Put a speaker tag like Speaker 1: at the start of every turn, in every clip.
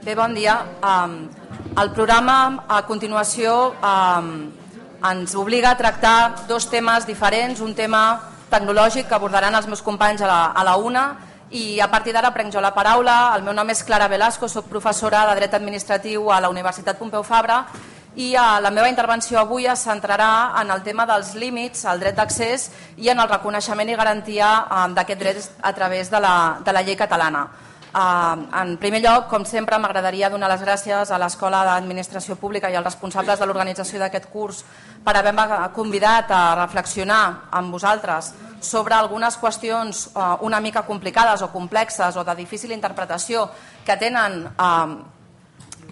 Speaker 1: Bé, bon dia. El programa, a continuació, ens obliga a tractar dos temes diferents, un tema tecnològic que abordaran els meus companys a la una, i a partir d'ara prenc jo la paraula. El meu nom és Clara Velasco, soc professora de Dret Administratiu a la Universitat Pompeu Fabra i la meva intervenció avui es centrarà en el tema dels límits al dret d'accés i en el reconeixement i garantia d'aquest dret a través de la llei catalana. En primer lloc, com sempre, m'agradaria donar les gràcies a l'Escola d'Administració Pública i als responsables de l'organització d'aquest curs per haver-me convidat a reflexionar amb vosaltres sobre algunes qüestions una mica complicades o complexes o de difícil interpretació que tenen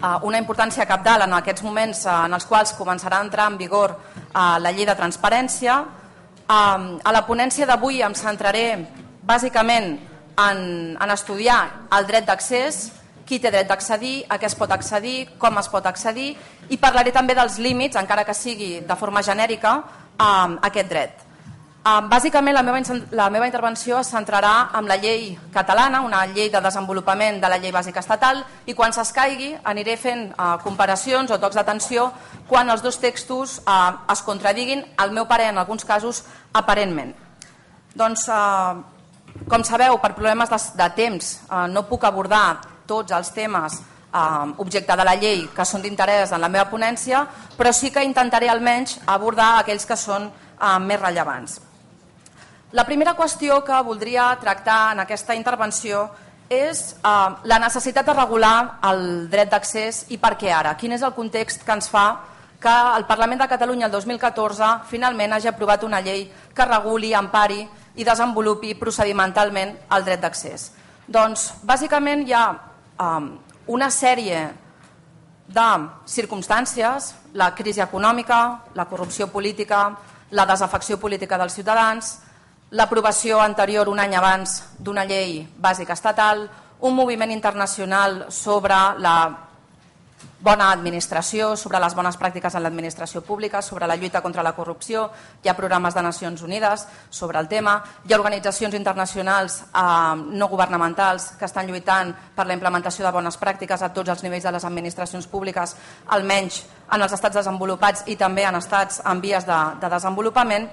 Speaker 1: una importància cabdal en aquests moments en els quals començarà a entrar en vigor la llei de transparència. A la ponència d'avui em centraré bàsicament en estudiar el dret d'accés, qui té dret d'accedir, a què es pot accedir, com es pot accedir, i parlaré també dels límits, encara que sigui de forma genèrica, a aquest dret. Bàsicament la meva intervenció es centrarà en la llei catalana, una llei de desenvolupament de la llei bàsica estatal, i quan s'escaigui aniré fent comparacions o tocs d'atenció quan els dos textos es contradiguin, al meu parer en alguns casos aparentment. Doncs, com sabeu, per problemes de temps no puc abordar tots els temes objecte de la llei que són d'interès en la meva ponència, però sí que intentaré almenys abordar aquells que són més rellevants. La primera qüestió que voldria tractar en aquesta intervenció és la necessitat de regular el dret d'accés i per què ara. Quin és el context que ens fa que el Parlament de Catalunya el 2014 finalment hagi aprovat una llei que reguli, empari i desenvolupi procedimentalment el dret d'accés. Doncs, bàsicament, hi ha una sèrie de circumstàncies, la crisi econòmica, la corrupció política, la desafecció política dels ciutadans, l'aprovació anterior un any abans d'una llei bàsica estatal, un moviment internacional sobre la bona administració, sobre les bones pràctiques en l'administració pública, sobre la lluita contra la corrupció. Hi ha programes de Nacions Unides sobre el tema, hi ha organitzacions internacionals no governamentals que estan lluitant per la implementació de bones pràctiques a tots els nivells de les administracions públiques, almenys en els estats desenvolupats i també en estats en vies de desenvolupament.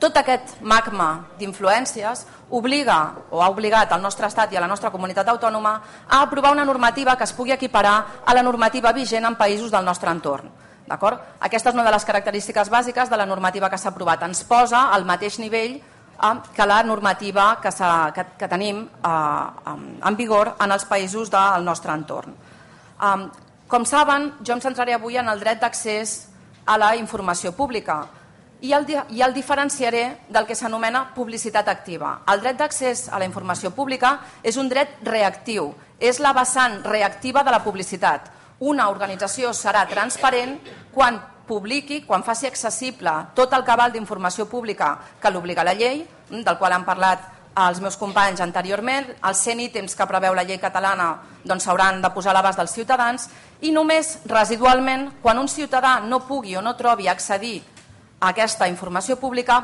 Speaker 1: Tot aquest magma d'influències obliga o ha obligat al nostre estat i a la nostra comunitat autònoma a aprovar una normativa que es pugui equiparar a la normativa vigent en països del nostre entorn. Aquesta és una de les característiques bàsiques de la normativa que s'ha aprovat. Ens posa al mateix nivell que la normativa que tenim en vigor en els països del nostre entorn. Com saben, jo em centraré avui en el dret d'accés a la informació pública i el diferenciaré del que s'anomena publicitat activa. El dret d'accés a la informació pública és un dret reactiu, és la vessant reactiva de la publicitat. Una organització serà transparent quan publiqui, quan faci accessible tot el cabal d'informació pública que l'obliga la llei, del qual han parlat els meus companys anteriorment. Els 100 ítems que preveu la llei catalana s'hauran de posar a l'abast dels ciutadans i només residualment, quan un ciutadà no pugui o no trobi accedir a aquesta informació pública,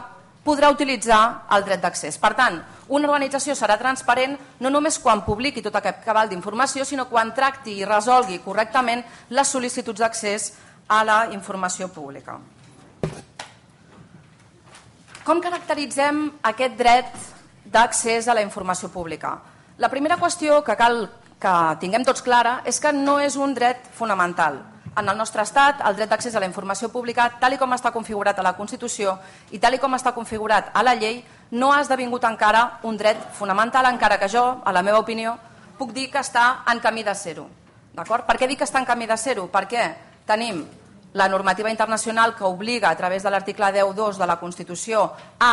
Speaker 1: podrà utilitzar el dret d'accés. Per tant, una organització serà transparent no només quan publiqui tot aquest cabal d'informació, sinó quan tracti i resolgui correctament les sol·licituds d'accés a la informació pública. Com caracteritzem aquest dret d'accés a la informació pública? La primera qüestió que cal que tinguem tots clara és que no és un dret fonamental. En el nostre estat, el dret d'accés a la informació pública, tal com està configurat a la Constitució i tal com està configurat a la llei, no ha esdevingut encara un dret fonamental, encara que jo, a la meva opinió, puc dir que està en camí de ser-ho. Per què dic que està en camí de ser-ho? Perquè tenim la normativa internacional que obliga, a través de l'article 10.2 de la Constitució, a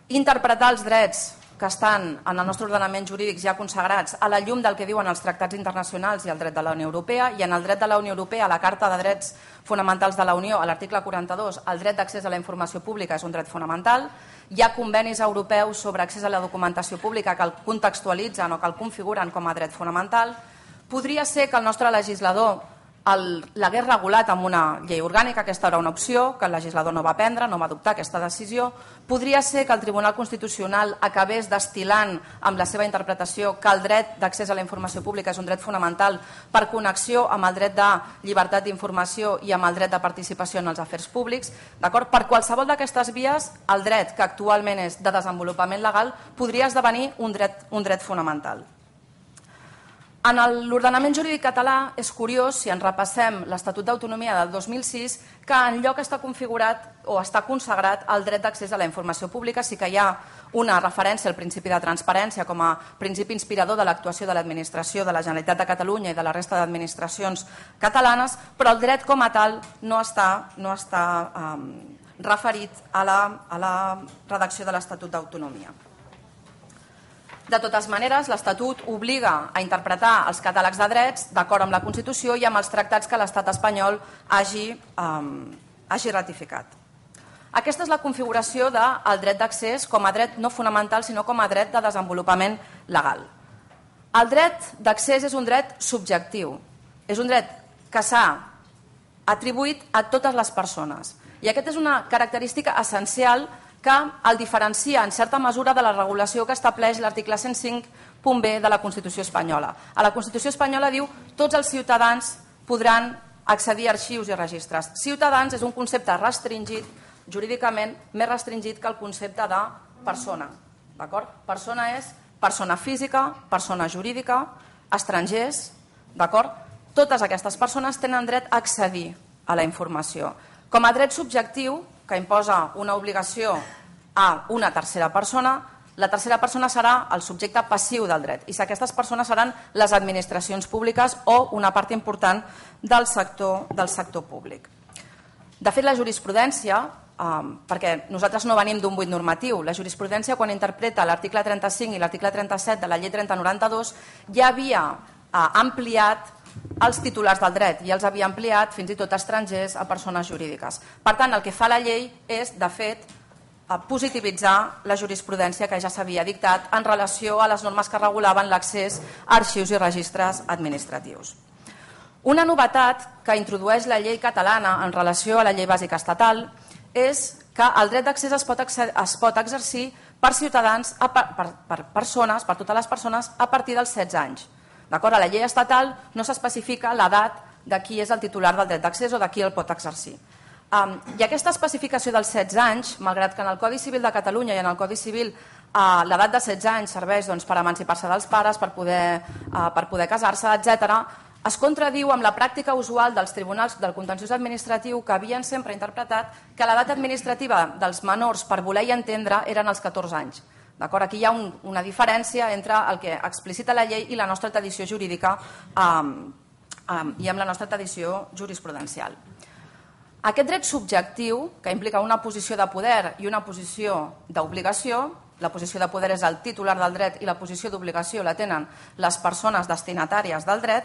Speaker 1: interpretar els drets que estan en el nostre ordenament jurídic ja consagrats a la llum del que diuen els tractats internacionals i el dret de la Unió Europea, i en el dret de la Unió Europea, a la Carta de Drets Fonamentals de la Unió, a l'article 42, el dret d'accés a la informació pública és un dret fonamental. Hi ha convenis europeus sobre accés a la documentació pública que el contextualitzen o que el configuren com a dret fonamental. Podria ser que el nostre legislador l'hagués regulat amb una llei orgànica, aquesta era una opció que el legislador no va prendre, no va adoptar aquesta decisió. Podria ser que el Tribunal Constitucional acabés destil·lant amb la seva interpretació que el dret d'accés a la informació pública és un dret fonamental per connexió amb el dret de llibertat d'informació i amb el dret de participació en els afers públics. Per qualsevol d'aquestes vies, el dret que actualment és de desenvolupament legal podria esdevenir un dret fonamental. En l'ordenament jurídic català és curiós, si ens repassem l'Estatut d'Autonomia del 2006, que enlloc està configurat o està consagrat el dret d'accés a la informació pública. Sí que hi ha una referència al principi de transparència com a principi inspirador de l'actuació de l'administració de la Generalitat de Catalunya i de la resta d'administracions catalanes, però el dret com a tal no està referit a la redacció de l'Estatut d'Autonomia. De totes maneres, l'Estatut obliga a interpretar els catàlegs de drets d'acord amb la Constitució i amb els tractats que l'Estat espanyol hagi ratificat. Aquesta és la configuració del dret d'accés com a dret no fonamental, sinó com a dret de desenvolupament legal. El dret d'accés és un dret subjectiu, és un dret que s'ha atribuït a totes les persones. I aquesta és una característica essencial que el diferencia en certa mesura de la regulació que estableix l'article 105.b de la Constitució espanyola. A la Constitució espanyola diu que tots els ciutadans podran accedir a arxius i registres. Ciutadans és un concepte restringit, jurídicament més restringit que el concepte de persona. Persona és persona física, persona jurídica, estrangers. Totes aquestes persones tenen dret a accedir a la informació. Com a dret subjectiu, que imposa una obligació a una tercera persona, la tercera persona serà el subjecte passiu del dret i aquestes persones seran les administracions públiques o una part important del sector públic. De fet, la jurisprudència, perquè nosaltres no venim d'un buit normatiu, la jurisprudència quan interpreta l'article 35 i l'article 37 de la llei 3092 ja havia ampliat els titulars del dret i els havia ampliat fins i tot a estrangers, a persones jurídiques. Per tant, el que fa la llei és, de fet, positivitzar la jurisprudència que ja s'havia dictat en relació a les normes que regulaven l'accés a arxius i registres administratius. Una novetat que introdueix la llei catalana en relació a la llei bàsica estatal és que el dret d'accés es pot exercir per ciutadans, per persones, per totes les persones, a partir dels 16 anys. A la llei estatal no s'especifica l'edat de qui és el titular del dret d'accés o de qui el pot exercir. I aquesta especificació dels 16 anys, malgrat que en el Codi Civil de Catalunya i en el Codi Civil l'edat de 16 anys serveix per emancipar-se dels pares, per poder casar-se, etc., es contradiu amb la pràctica usual dels tribunals del contenciós administratiu que havien sempre interpretat que l'edat administrativa dels menors per voler i entendre eren els 14 anys. Aquí hi ha una diferència entre el que explicita la llei i la nostra tradició jurídica i amb la nostra tradició jurisprudencial. Aquest dret subjectiu, que implica una posició de poder i una posició d'obligació, la posició de poder és el titular del dret i la posició d'obligació la tenen les persones destinatàries del dret,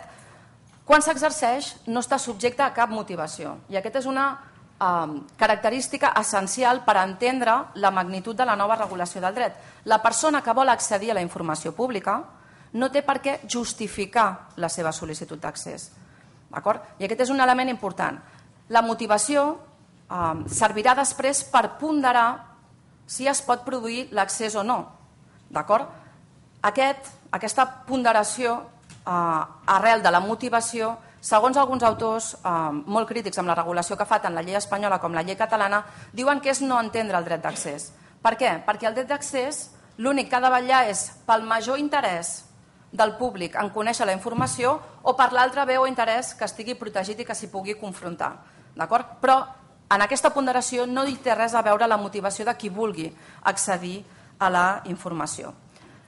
Speaker 1: quan s'exerceix no està subjecte a cap motivació. I aquesta és una característica essencial per entendre la magnitud de la nova regulació del dret. La persona que vol accedir a la informació pública no té per què justificar la seva sol·licitud d'accés. I aquest és un element important. La motivació servirà després per ponderar si es pot produir l'accés o no. Aquesta ponderació arrel de la motivació, segons alguns autors molt crítics amb la regulació que fa tant la llei espanyola com la llei catalana, diuen que és no entendre el dret d'accés. Per què? Perquè el dret d'accés l'únic que ha de vetllar és pel major interès del públic en conèixer la informació o per l'altre bé o interès que estigui protegit i que s'hi pugui confrontar. Però en aquesta ponderació no hi té res a veure la motivació de qui vulgui accedir a la informació.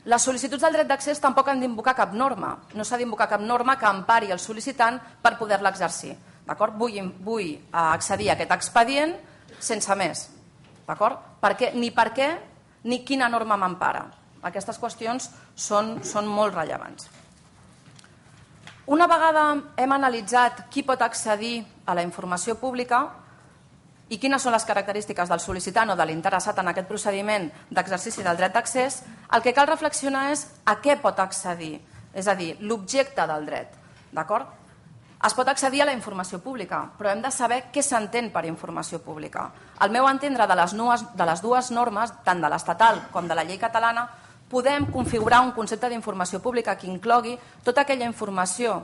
Speaker 1: Les sol·licituds del dret d'accés tampoc han d'invocar cap norma. No s'ha d'invocar cap norma que empari el sol·licitant per poder-la exercir. Vull accedir a aquest expedient sense més. Ni per què ni quina norma m'empara. Aquestes qüestions són molt rellevants. Una vegada hem analitzat qui pot accedir a la informació pública i quines són les característiques del sol·licitant o de l'interessat en aquest procediment d'exercici del dret d'accés, el que cal reflexionar és a què pot accedir, és a dir, l'objecte del dret. Es pot accedir a la informació pública, però hem de saber què s'entén per informació pública. Al meu entendre, de les dues normes, tant de l'estatal com de la llei catalana, podem configurar un concepte d'informació pública que inclogui tota aquella informació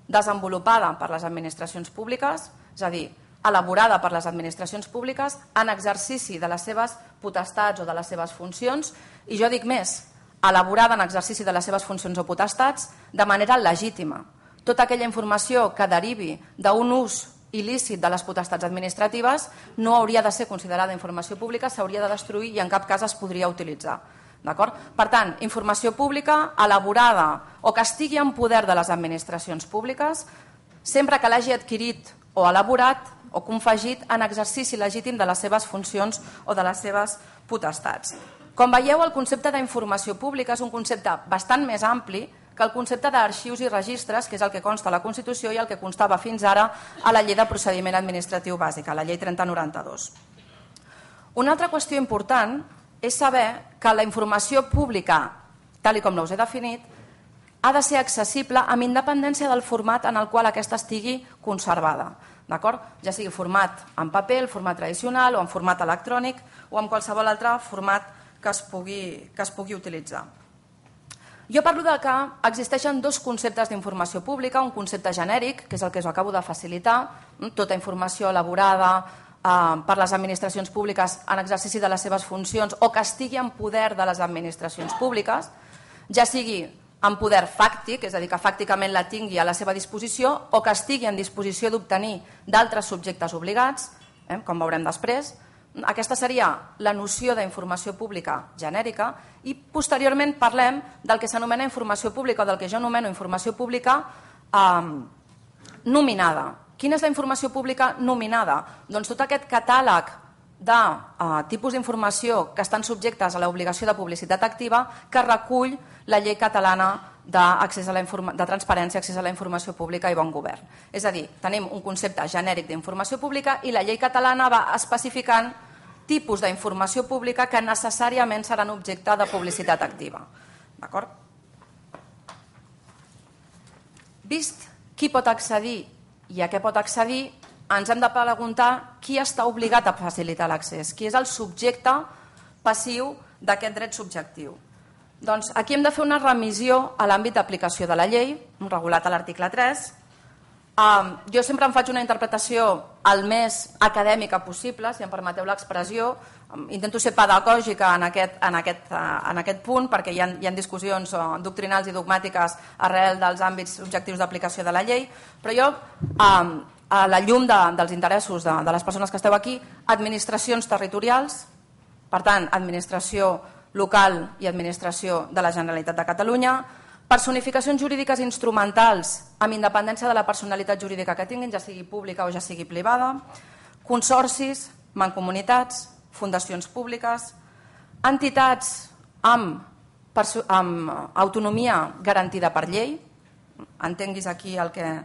Speaker 1: desenvolupada per les administracions públiques, és a dir, elaborada per les administracions públiques en exercici de les seves potestats o de les seves funcions, i jo dic més, elaborada en exercici de les seves funcions o potestats de manera legítima. Tota aquella informació que derivi d'un ús il·lícit de les potestats administratives no hauria de ser considerada informació pública, s'hauria de destruir i en cap cas es podria utilitzar. Per tant, informació pública elaborada o que estigui en poder de les administracions públiques sempre que l'hagi adquirit o elaborat o confegit en exercici legítim de les seves funcions o de les seves potestats. Com veieu, el concepte d'informació pública és un concepte bastant més ampli que el concepte d'arxius i registres, que és el que consta a la Constitució i el que constava fins ara a la Llei de Procediment Administratiu Bàsica, la Llei 3092. Una altra qüestió important és saber que la informació pública, tal com us he definit, ha de ser accessible amb independència del format en el qual aquesta estigui conservada. Ja sigui format en paper, el format tradicional, o en format electrònic, o en qualsevol altre format que es pugui utilitzar. Jo parlo de que existeixen dos conceptes d'informació pública, un concepte genèric, que és el que us acabo de facilitar, tota informació elaborada per les administracions públiques en exercici de les seves funcions o que estigui en poder de les administracions públiques, ja sigui en poder fàctic, és a dir, que fàcticament la tingui a la seva disposició, o que estigui en disposició d'obtenir d'altres subjectes obligats, com veurem després. Aquesta seria la noció d'informació pública genèrica i posteriorment parlem del que s'anomena informació pública o del que jo anomeno informació pública nominada. Quina és la informació pública nominada? Doncs tot aquest catàleg de tipus d'informació que estan subjectes a l'obligació de publicitat activa que recull la llei catalana de transparència, accés a la informació pública i bon govern. És a dir, tenim un concepte genèric d'informació pública i la llei catalana va especificant tipus d'informació pública que necessàriament seran objecte de publicitat activa. D'acord? Vist qui pot accedir i a què pot accedir, ens hem de preguntar qui està obligat a facilitar l'accés, qui és el subjecte passiu d'aquest dret subjectiu. Doncs aquí hem de fer una remissió a l'àmbit d'aplicació de la llei, regulat a l'article 3. Jo sempre em faig una interpretació el més acadèmica possible, si em permeteu l'expressió. Intento ser pedagògica en aquest punt perquè hi ha discussions doctrinals i dogmàtiques arrel dels àmbits objectius d'aplicació de la llei, però jo, a la llum dels interessos de les persones que esteu aquí, administracions territorials, per tant, administració local i administració de la Generalitat de Catalunya, personificacions jurídiques instrumentals amb independència de la personalitat jurídica que tinguin, ja sigui pública o ja sigui privada, consorcis, mancomunitats, fundacions públiques, entitats amb autonomia garantida per llei, entenguis aquí el que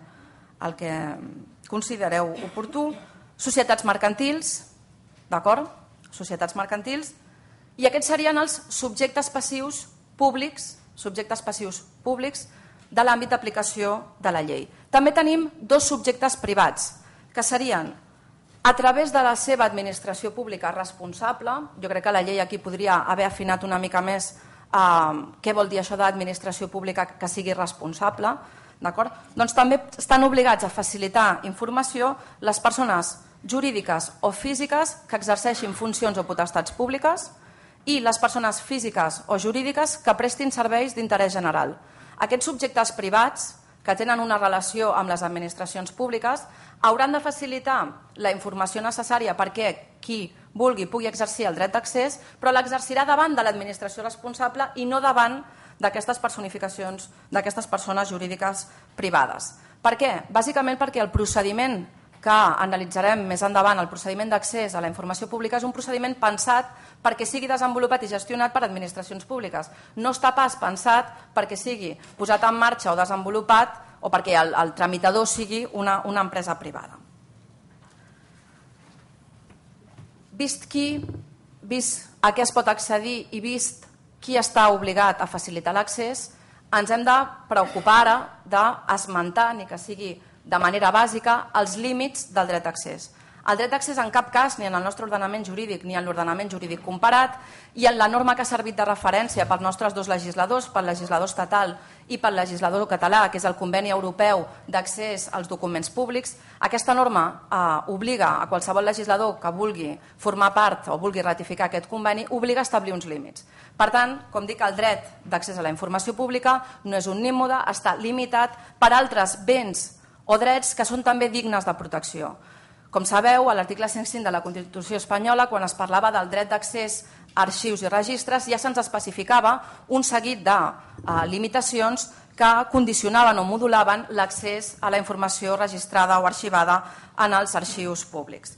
Speaker 1: considereu oportú, societats mercantils, d'acord? Societats mercantils, i aquests serien els subjectes passius públics de l'àmbit d'aplicació de la llei. També tenim dos subjectes privats, que serien, a través de la seva administració pública responsable, jo crec que la llei aquí podria haver afinat una mica més què vol dir això d'administració pública que sigui responsable, doncs també estan obligats a facilitar informació les persones jurídiques o físiques que exerceixin funcions o potestats públiques i les persones físiques o jurídiques que prestin serveis d'interès general. Aquests subjectes privats que tenen una relació amb les administracions públiques hauran de facilitar la informació necessària perquè qui vulgui pugui exercir el dret d'accés, però l'exercirà davant de l'administració responsable i no davant d'aquestes personificacions, d'aquestes persones jurídiques privades. Per què? Bàsicament perquè el procediment que analitzarem més endavant, el procediment d'accés a la informació pública, és un procediment pensat perquè sigui desenvolupat i gestionat per administracions públiques. No està pas pensat perquè sigui posat en marxa o desenvolupat o perquè el tramitador sigui una empresa privada. Vist a què es pot accedir i vist qui està obligat a facilitar l'accés, ens hem de preocupar ara d'esmentar, ni que sigui de manera bàsica els límits del dret d'accés. El dret d'accés en cap cas, ni en el nostre ordenament jurídic ni en l'ordenament jurídic comparat, i en la norma que ha servit de referència pels nostres dos legisladors, pel legislador estatal i pel legislador català, que és el Conveni Europeu d'Accés als Documents Públics, aquesta norma obliga a qualsevol legislador que vulgui formar part o vulgui ratificar aquest conveni, obliga a establir uns límits. Per tant, com dic, el dret d'accés a la informació pública no és un nímode, està limitat per altres béns o drets que són també dignes de protecció. Com sabeu, a l'article 105 de la Constitució espanyola, quan es parlava del dret d'accés a arxius i registres, ja se'ns especificava un seguit de limitacions que condicionaven o modulaven l'accés a la informació registrada o arxivada en els arxius públics.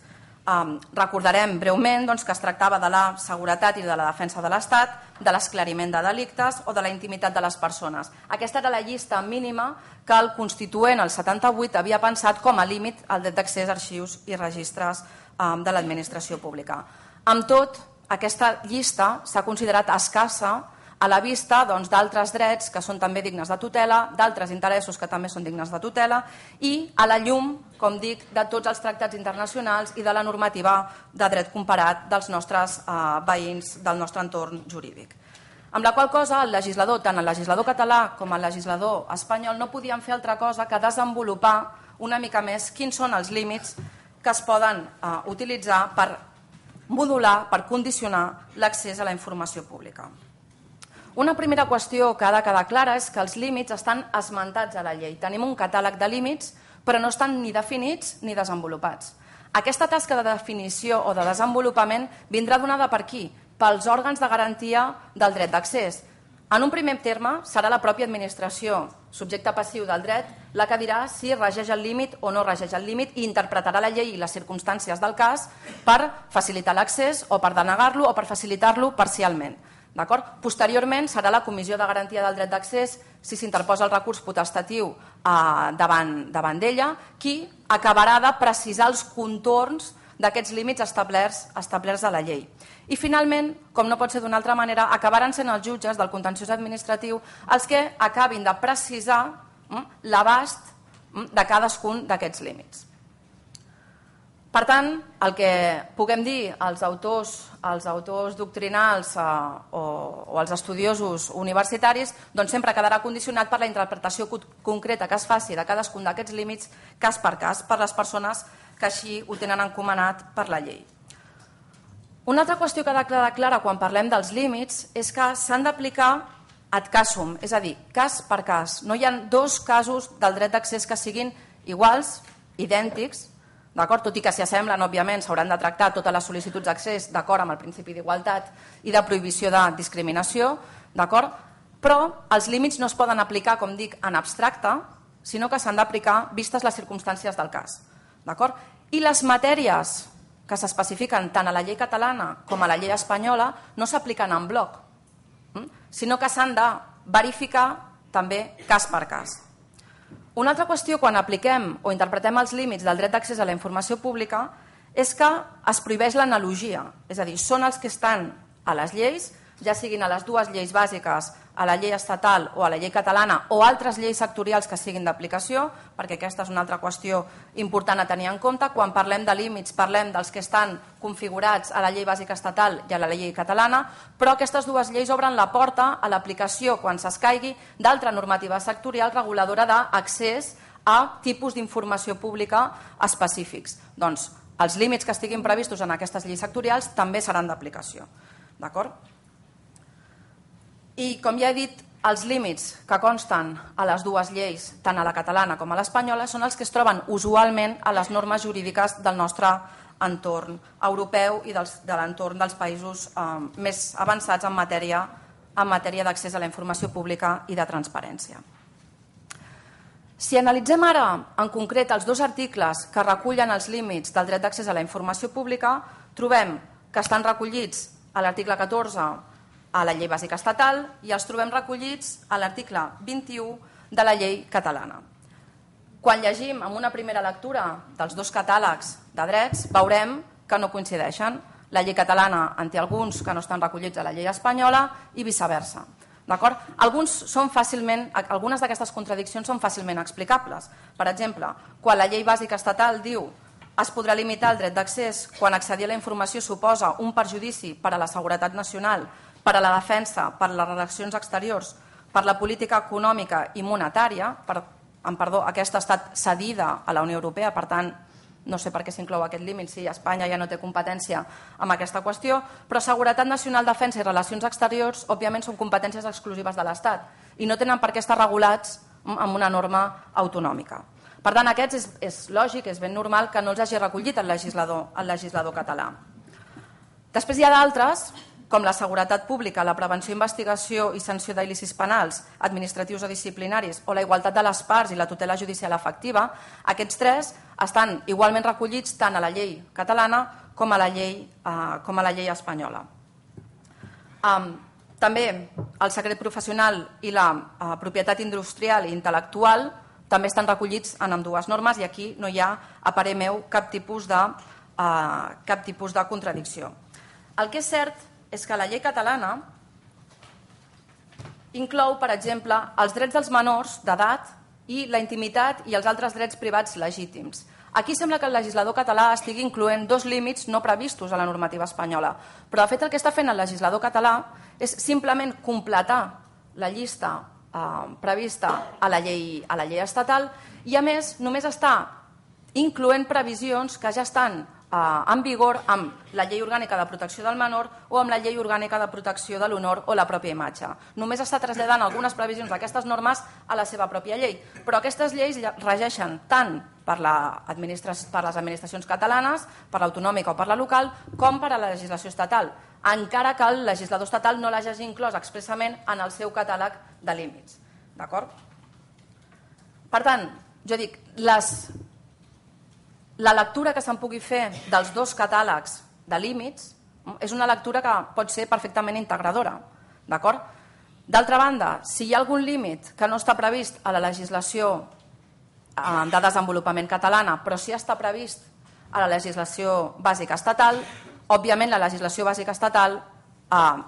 Speaker 1: Recordarem breument que es tractava de la seguretat i de la defensa de l'Estat, de l'esclariment de delictes o de la intimitat de les persones. Aquesta era la llista mínima que el Constituent, el 78, havia pensat com a límit al dret d'accés a arxius i registres de l'administració pública. Amb tot, aquesta llista s'ha considerat escassa a la vista d'altres drets que són també dignes de tutela, d'altres interessos que també són dignes de tutela i a la llum, com dic, de tots els tractats internacionals i de la normativa de dret comparat dels nostres veïns del nostre entorn jurídic. Amb la qual cosa el legislador, tant el legislador català com el legislador espanyol, no podien fer altra cosa que desenvolupar una mica més quins són els límits que es poden utilitzar per modular, per condicionar l'accés a la informació pública. Una primera qüestió que ha de quedar clara és que els límits estan esmentats a la llei. Tenim un catàleg de límits, però no estan ni definits ni desenvolupats. Aquesta tasca de definició o de desenvolupament vindrà donada per qui? Pels òrgans de garantia del dret d'accés. En un primer terme, serà la pròpia administració, subjecte passiu del dret, la que dirà si regeix el límit o no regeix el límit i interpretarà la llei i les circumstàncies del cas per facilitar l'accés o per denegar-lo o per facilitar-lo parcialment. Posteriorment serà la Comissió de Garantia del Dret d'Accés, si s'interposa el recurs potestatiu davant d'ella, qui acabarà de precisar els contorns d'aquests límits establerts a la llei. I finalment, com no pot ser d'una altra manera, acabaran sent els jutges del contenciós administratiu els que acabin de precisar l'abast de cadascun d'aquests límits. Per tant, el que puguem dir als autors doctrinals o als estudiosos universitaris sempre quedarà condicionat per la interpretació concreta que es faci de cadascun d'aquests límits cas per cas per les persones que així ho tenen encomanat per la llei. Una altra qüestió que ha de quedar clara quan parlem dels límits és que s'han d'aplicar ad casum, és a dir, cas per cas. No hi ha dos casos del dret d'accés que siguin iguals, idèntics, tot i que s'hi assemblen, òbviament, s'hauran de tractar totes les sol·licituds d'accés d'acord amb el principi d'igualtat i de prohibició de discriminació, però els límits no es poden aplicar, com dic, en abstracte, sinó que s'han d'aplicar vistes les circumstàncies del cas. I les matèries que s'especifiquen tant a la llei catalana com a la llei espanyola no s'apliquen en bloc, sinó que s'han de verificar també cas per cas. Una altra qüestió quan apliquem o interpretem els límits del dret d'accés a la informació pública és que es prohibeix l'analogia, és a dir, són els que estan a les lleis, ja siguin a les dues lleis bàsiques, a la llei estatal o a la llei catalana o altres lleis sectorials que siguin d'aplicació, perquè aquesta és una altra qüestió important a tenir en compte. Quan parlem de límits parlem dels que estan configurats a la llei bàsica estatal i a la llei catalana, però aquestes dues lleis obren la porta a l'aplicació, quan s'escaigui, d'altra normativa sectorial reguladora d'accés a tipus d'informació pública específics. Doncs els límits que estiguin previstos en aquestes lleis sectorials també seran d'aplicació. D'acord? I, com ja he dit, els límits que consten a les dues lleis, tant a la catalana com a l'espanyola, són els que es troben usualment a les normes jurídiques del nostre entorn europeu i de l'entorn dels països més avançats en matèria d'accés a la informació pública i de transparència. Si analitzem ara en concret els dos articles que recullen els límits del dret d'accés a la informació pública, trobem que estan recollits a l'article 14 a la llei bàsica estatal i els trobem recollits a l'article 21 de la llei catalana. Quan llegim en una primera lectura dels dos catàlegs de drets, veurem que no coincideixen. La llei catalana en té alguns que no estan recollits a la llei espanyola i viceversa. Algunes d'aquestes contradiccions són fàcilment explicables. Per exemple, quan la llei bàsica estatal diu es podrà limitar el dret d'accés quan accedir a la informació suposa un perjudici per a la seguretat nacional, per a la defensa, per a les relacions exteriors, per la política econòmica i monetària, aquesta ha estat cedida a la Unió Europea, per tant, no sé per què s'inclou aquest límit si Espanya ja no té competència amb aquesta qüestió, però seguretat nacional, defensa i relacions exteriors, òbviament, són competències exclusives de l'Estat i no tenen per què estar regulats amb una norma autonòmica. Per tant, aquests és lògic, és ben normal que no els hagi recollit el legislador català. Després hi ha d'altres, com la seguretat pública, la prevenció, investigació i sanció d'il·lícits penals, administratius o disciplinaris, o la igualtat de les parts i la tutela judicial efectiva. Aquests tres estan igualment recollits tant a la llei catalana com a la llei espanyola. També el secret professional i la propietat industrial i intel·lectual també estan recollits en ambdues normes i aquí no hi ha, a parer meu, cap tipus de contradicció. El que és cert és que la llei catalana inclou, per exemple, els drets dels menors d'edat i la intimitat i els altres drets privats legítims. Aquí sembla que el legislador català estigui incloent dos límits no previstos a la normativa espanyola, però de fet el que està fent el legislador català és simplement completar la llista prevista a la llei estatal i, a més, només està incloent previsions que ja estan en vigor amb la Llei Orgànica de Protecció del Menor o amb la Llei Orgànica de Protecció de l'Honor o la pròpia imatge. Només està traslladant algunes previsions d'aquestes normes a la seva pròpia llei, però aquestes lleis regeixen tant per les administracions catalanes, per l'autonòmica o per la local, com per a la legislació estatal, encara que el legislador estatal no l'hagi inclòs expressament en el seu catàleg de límits. D'acord? Per tant, jo dic, la lectura que se'n pugui fer dels dos catàlegs de límits és una lectura que pot ser perfectament integradora. D'acord? D'altra banda, si hi ha algun límit que no està previst a la legislació de desenvolupament catalana, però sí està previst a la legislació bàsica estatal, òbviament la legislació bàsica estatal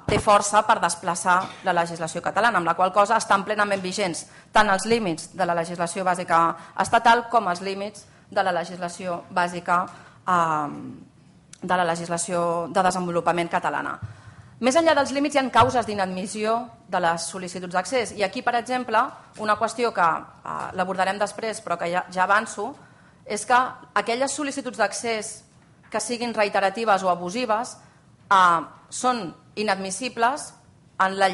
Speaker 1: té força per desplaçar la legislació catalana, amb la qual cosa estan plenament vigents tant els límits de la legislació bàsica estatal com els límits de la legislació bàsica de la legislació de desenvolupament catalana. Més enllà dels límits hi ha causes d'inadmissió de les sol·licituds d'accés i aquí, per exemple, una qüestió que l'abordarem després però que ja avanço és que aquelles sol·licituds d'accés que siguin reiteratives o abusives són inadmissibles amb la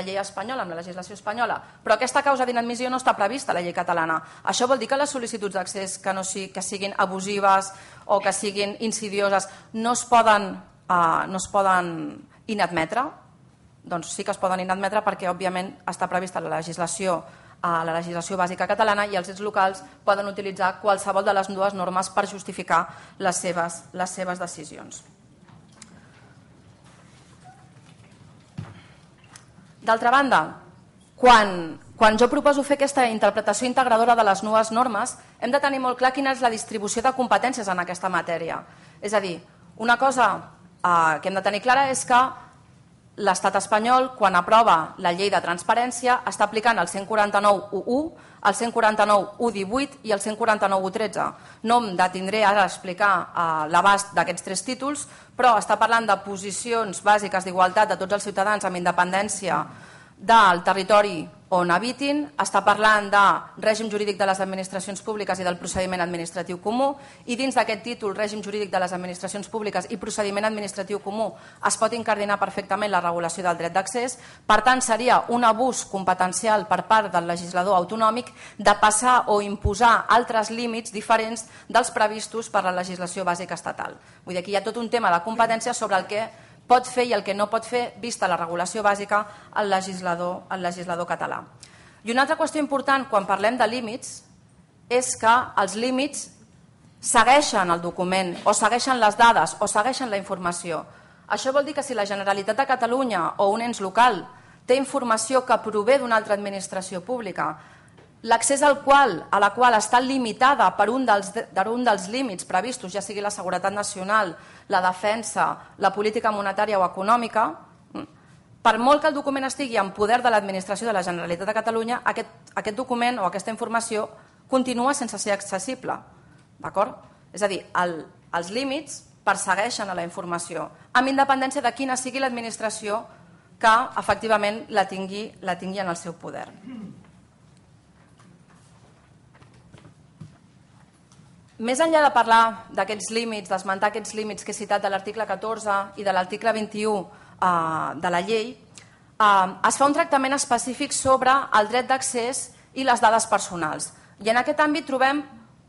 Speaker 1: llei espanyola, amb la legislació espanyola, però aquesta causa d'inadmissió no està prevista a la llei catalana. Això vol dir que les sol·licituds d'accés que siguin abusives o que siguin insidioses no es poden inadmetre? Doncs sí que es poden inadmetre perquè, òbviament, està prevista la legislació bàsica catalana i els ens locals poden utilitzar qualsevol de les dues normes per justificar les seves decisions. D'altra banda, quan jo proposo fer aquesta interpretació integradora de les noves normes, hem de tenir molt clar quina és la distribució de competències en aquesta matèria. És a dir, una cosa que hem de tenir clara és que l'Estat espanyol, quan aprova la llei de transparència, està aplicant el 149.1.1, el 149.1.18 i el 149.1.13. No em detindré ara a explicar l'abast d'aquests tres títols, però està parlant de posicions bàsiques d'igualtat de tots els ciutadans amb independència del territori on habitin, està parlant de règim jurídic de les administracions públiques i del procediment administratiu comú i dins d'aquest títol, règim jurídic de les administracions públiques i procediment administratiu comú, es pot incardinar perfectament la regulació del dret d'accés. Per tant, seria un abús competencial per part del legislador autonòmic de passar o imposar altres límits diferents dels previstos per la legislació bàsica estatal. Vull dir, aquí hi ha tot un tema de competència sobre el que pot fer i el que no pot fer, vista la regulació bàsica, el legislador català. I una altra qüestió important quan parlem de límits és que els límits segueixen el document o segueixen les dades o segueixen la informació. Això vol dir que si la Generalitat de Catalunya o un ens local té informació que prové d'una altra administració pública, l'accés a la qual està limitada per un dels límits previstos, ja sigui la seguretat nacional, la defensa, la política monetària o econòmica, per molt que el document estigui en poder de l'administració de la Generalitat de Catalunya, aquest document o aquesta informació continua sense ser accessible. D'acord? És a dir, els límits persegueixen a la informació, amb independència de quina sigui l'administració que efectivament la tingui en el seu poder. Més enllà de parlar d'aquests límits, d'esmentar aquests límits que he citat de l'article 14 i de l'article 21 de la llei, es fa un tractament específic sobre el dret d'accés i les dades personals. I en aquest àmbit trobem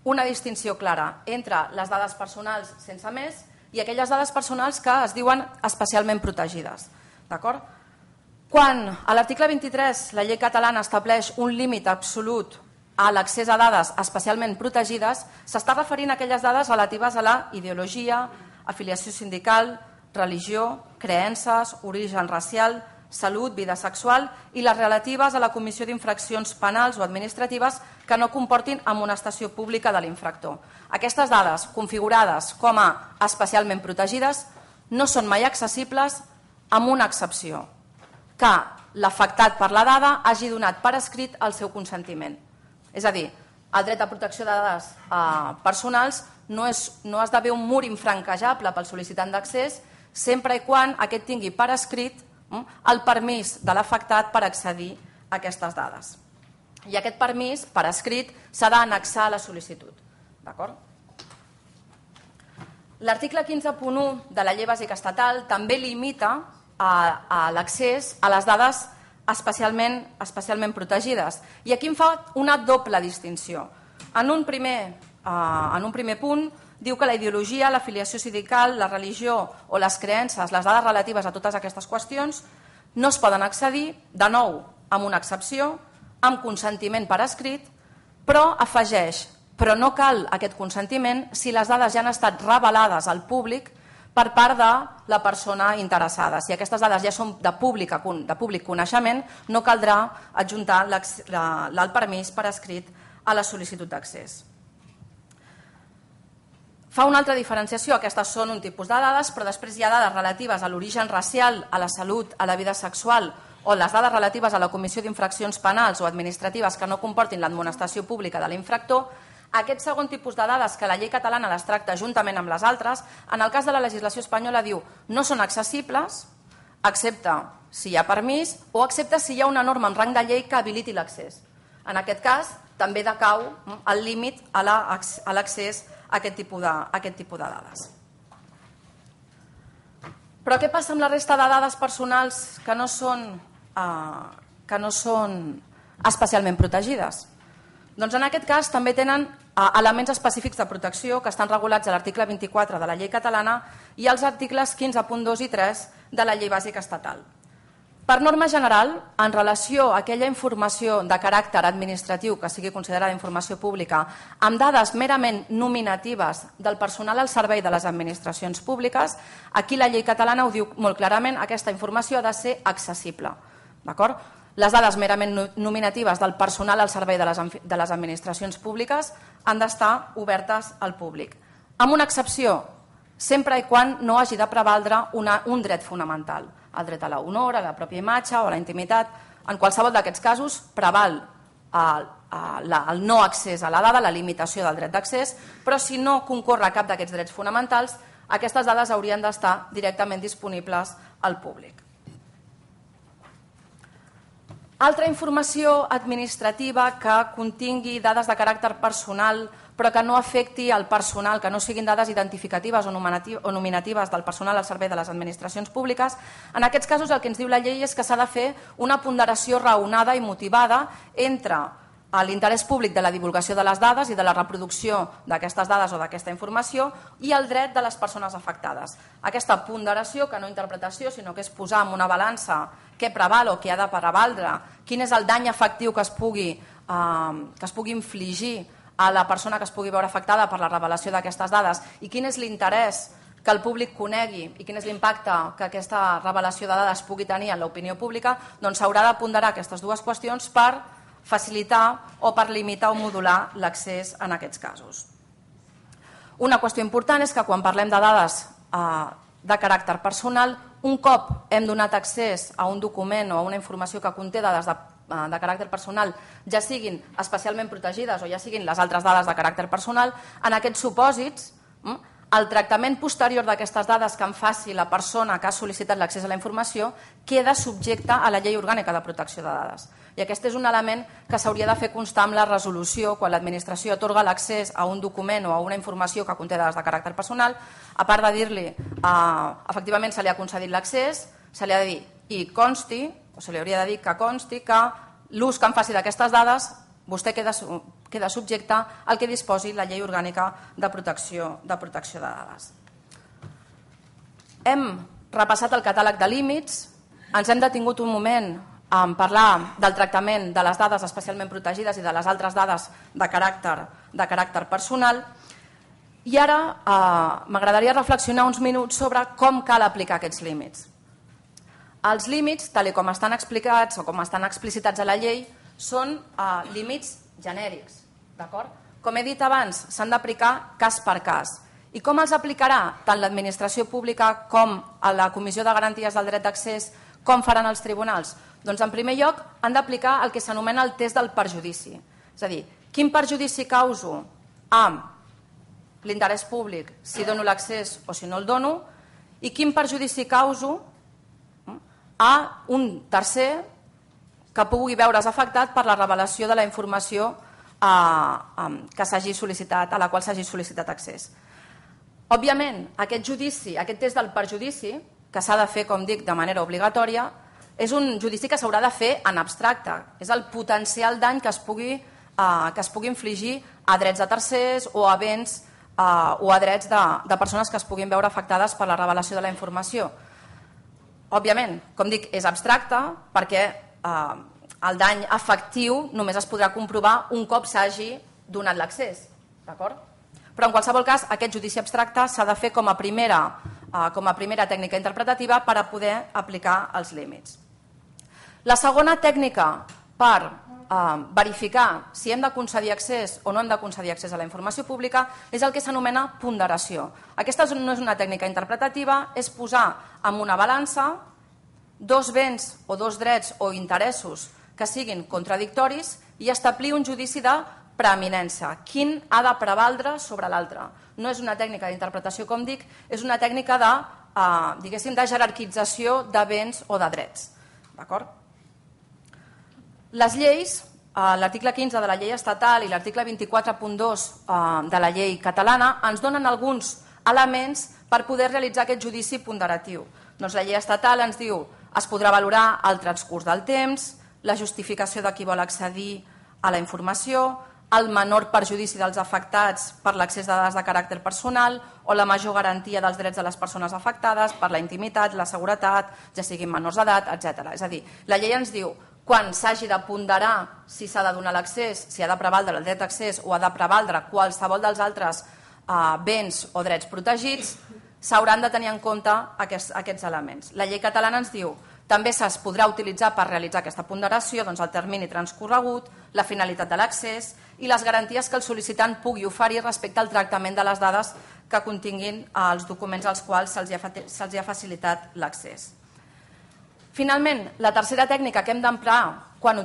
Speaker 1: una distinció clara entre les dades personals sense més i aquelles dades personals que es diuen especialment protegides. D'acord? Quan a l'article 23 la llei catalana estableix un límit absolut a l'accés a dades especialment protegides, s'està referint a aquelles dades relatives a la ideologia, afiliació sindical, religió, creences, origen racial, salut, vida sexual i les relatives a la comissió d'infraccions penals o administratives que no comportin amonestació pública de l'infractor. Aquestes dades, configurades com a especialment protegides, no són mai accessibles amb una excepció, que l'afectat per la dada hagi donat per escrit el seu consentiment. És a dir, el dret a protecció de dades personals no esdevé un mur infranquejable pel sol·licitant d'accés sempre i quan aquest tingui per escrit el permís de l'afectat per accedir a aquestes dades. I aquest permís per escrit s'ha d'annexar a la sol·licitud. D'acord? L'article 15.1 de la Llei Bàsica Estatal també limita a l'accés a les dades especialment protegides. I aquí em fa una doble distinció. En un primer punt diu que la ideologia, l'afiliació sindical, la religió o les creences, les dades relatives a totes aquestes qüestions, no es poden accedir, de nou, amb una excepció, amb consentiment per escrit, però afegeix, però no cal aquest consentiment si les dades ja han estat revelades al públic per part de la persona interessada. Si aquestes dades ja són de públic coneixement, no caldrà adjuntar el permís per escrit a la sol·licitud d'accés. Fa una altra diferenciació, aquestes són un tipus de dades, però després hi ha dades relatives a l'origen racial, a la salut, a la vida sexual o les dades relatives a la comissió d'infraccions penals o administratives que no comportin l'admonestació pública de l'infractor. Aquest segon tipus de dades, que la llei catalana les tracta juntament amb les altres, en el cas de la legislació espanyola diu no són accessibles, excepte si hi ha permís o excepte si hi ha una norma en rang de llei que habiliti l'accés. En aquest cas també decau el límit a l'accés a aquest tipus de dades. Però què passa amb la resta de dades personals que no són especialment protegides? Doncs en aquest cas també tenen elements específics de protecció que estan regulats a l'article 24 de la llei catalana i als articles 15.2 i 3 de la llei bàsica estatal. Per norma general, en relació a aquella informació de caràcter administratiu que sigui considerada informació pública amb dades merament nominatives del personal al servei de les administracions públiques, aquí la llei catalana ho diu molt clarament, aquesta informació ha de ser accessible. D'acord? Les dades merament nominatives del personal al servei de les administracions públiques han d'estar obertes al públic. Amb una excepció, sempre i quan no hagi de prevaldre un dret fonamental, el dret a l'honor, a la pròpia imatge o a la intimitat. En qualsevol d'aquests casos preval el no accés a la dada, la limitació del dret d'accés, però si no concorre cap d'aquests drets fonamentals, aquestes dades haurien d'estar directament disponibles al públic. Altra informació administrativa que contingui dades de caràcter personal però que no afecti el personal, que no siguin dades identificatives o nominatives del personal al servei de les administracions públiques, en aquests casos el que ens diu la llei és que s'ha de fer una ponderació raonada i motivada entre l'interès públic de la divulgació de les dades i de la reproducció d'aquestes dades o d'aquesta informació i el dret de les persones afectades. Aquesta ponderació, que no interpretació, sinó que és posar en una balança què preval o què ha de prevaldre, quin és el dany efectiu que es pugui infligir a la persona que es pugui veure afectada per la revelació d'aquestes dades i quin és l'interès que el públic conegui i quin és l'impacte que aquesta revelació de dades pugui tenir en l'opinió pública, doncs s'haurà de ponderar aquestes dues qüestions per facilitar o per limitar o modular l'accés en aquests casos. Una qüestió important és que quan parlem de dades de caràcter personal. Un cop hem donat accés a un document o a una informació que conté dades de caràcter personal, ja siguin especialment protegides o ja siguin les altres dades de caràcter personal, en aquests supòsits, el tractament posterior d'aquestes dades que en faci la persona que ha sol·licitat l'accés a la informació queda subjecte a la Llei Orgànica de Protecció de Dades. I aquest és un element que s'hauria de fer constar amb la resolució quan l'administració atorga l'accés a un document o a una informació que conté dades de caràcter personal. A part de dir-li, efectivament se li ha concedit l'accés, se li ha de dir i consti, o se li hauria de dir que consti que l'ús que en faci d'aquestes dades vostè queda subjecte al que disposi la Llei Orgànica de Protecció de Dades. Hem repassat el catàleg de límits, ens hem detingut un moment en parlar del tractament de les dades especialment protegides i de les altres dades de caràcter personal, i ara m'agradaria reflexionar uns minuts sobre com cal aplicar aquests límits. Els límits, tal com estan explicats o com estan explicitats a la llei, són límits genèrics. Com he dit abans, s'han d'aplicar cas per cas. I com els aplicarà tant l'administració pública com la Comissió de Garanties del Dret d'Accés, com faran els tribunals? Doncs en primer lloc han d'aplicar el que s'anomena el test del perjudici. És a dir, quin perjudici causo amb l'interès públic si dono l'accés o si no el dono, i quin perjudici causo a un tercer que pugui veure's afectat per la revelació de la informació que s'hagi sol·licitat, a la qual s'hagi sol·licitat accés. Òbviament, aquest judici, aquest test del perjudici, que s'ha de fer, com dic, de manera obligatòria, és un judici que s'haurà de fer en abstracte. És el potencial dany que es pugui infligir a drets de tercers o a béns o a drets de persones que es puguin veure afectades per la revelació de la informació. Òbviament, com dic, és abstracte perquè el dany efectiu només es podrà comprovar un cop s'hagi donat l'accés. Però en qualsevol cas, aquest judici abstracte s'ha de fer com a primera tècnica interpretativa per a poder aplicar els límits. La segona tècnica per verificar si hem de concedir accés o no hem de concedir accés a la informació pública és el que s'anomena ponderació. Aquesta no és una tècnica interpretativa, és posar en una balança dos béns o dos drets o interessos que siguin contradictoris i establir un judici de preeminència. Quin ha de prevaldre sobre l'altre? No és una tècnica d'interpretació, com dic, és una tècnica de jerarquització de béns o de drets. Les lleis, l'article 15 de la llei estatal i l'article 24.2 de la llei catalana ens donen alguns elements per poder realitzar aquest judici ponderatiu. Doncs la llei estatal ens diu es podrà valorar el transcurs del temps, la justificació de qui vol accedir a la informació, el menor perjudici dels afectats per l'accés de dades de caràcter personal o la major garantia dels drets de les persones afectades per la intimitat, la seguretat, ja siguin menors d'edat, etc. És a dir, la llei ens diu quan s'hagi de ponderar si s'ha de donar l'accés, si ha de prevaldre el dret d'accés o ha de prevaldre qualsevol dels altres béns o drets protegits, s'hauran de tenir en compte aquests elements. La llei catalana ens diu també es podrà utilitzar per realitzar aquesta ponderació el termini transcorregut, la finalitat de l'accés i les garanties que el sol·licitant pugui oferir respecte al tractament de les dades que continguin els documents als quals se'ls ha facilitat l'accés. Finalment, la tercera tècnica que hem d'emprar quan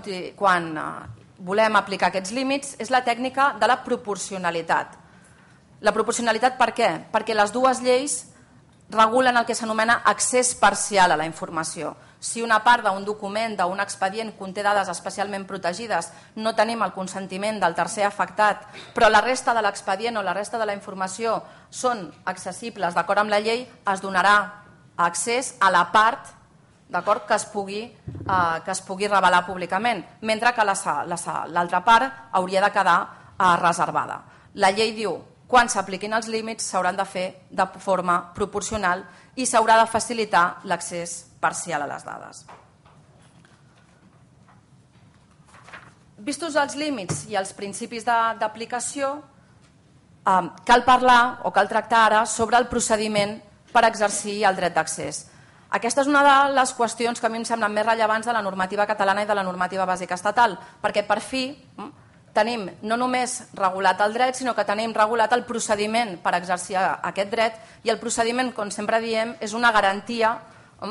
Speaker 1: volem aplicar aquests límits és la tècnica de la proporcionalitat. La proporcionalitat per què? Perquè les dues lleis regulen el que s'anomena accés parcial a la informació. Si una part d'un document, d'un expedient, conté dades especialment protegides, no tenim el consentiment del tercer afectat, però la resta de l'expedient o la resta de la informació són accessibles d'acord amb la llei, es donarà accés a la part que es pugui revelar públicament, mentre que l'altra part hauria de quedar reservada. La llei diu quan s'apliquin els límits s'hauran de fer de forma proporcional i s'haurà de facilitar l'accés parcial a les dades. Vistos els límits i els principis d'aplicació, cal parlar o cal tractar ara sobre el procediment per exercir el dret d'accés. Aquesta és una de les qüestions que a mi em semblen més rellevants de la normativa catalana i de la normativa bàsica estatal, perquè per fi tenim no només regulat el dret, sinó que tenim regulat el procediment per exercir aquest dret, i el procediment, com sempre diem, és una garantia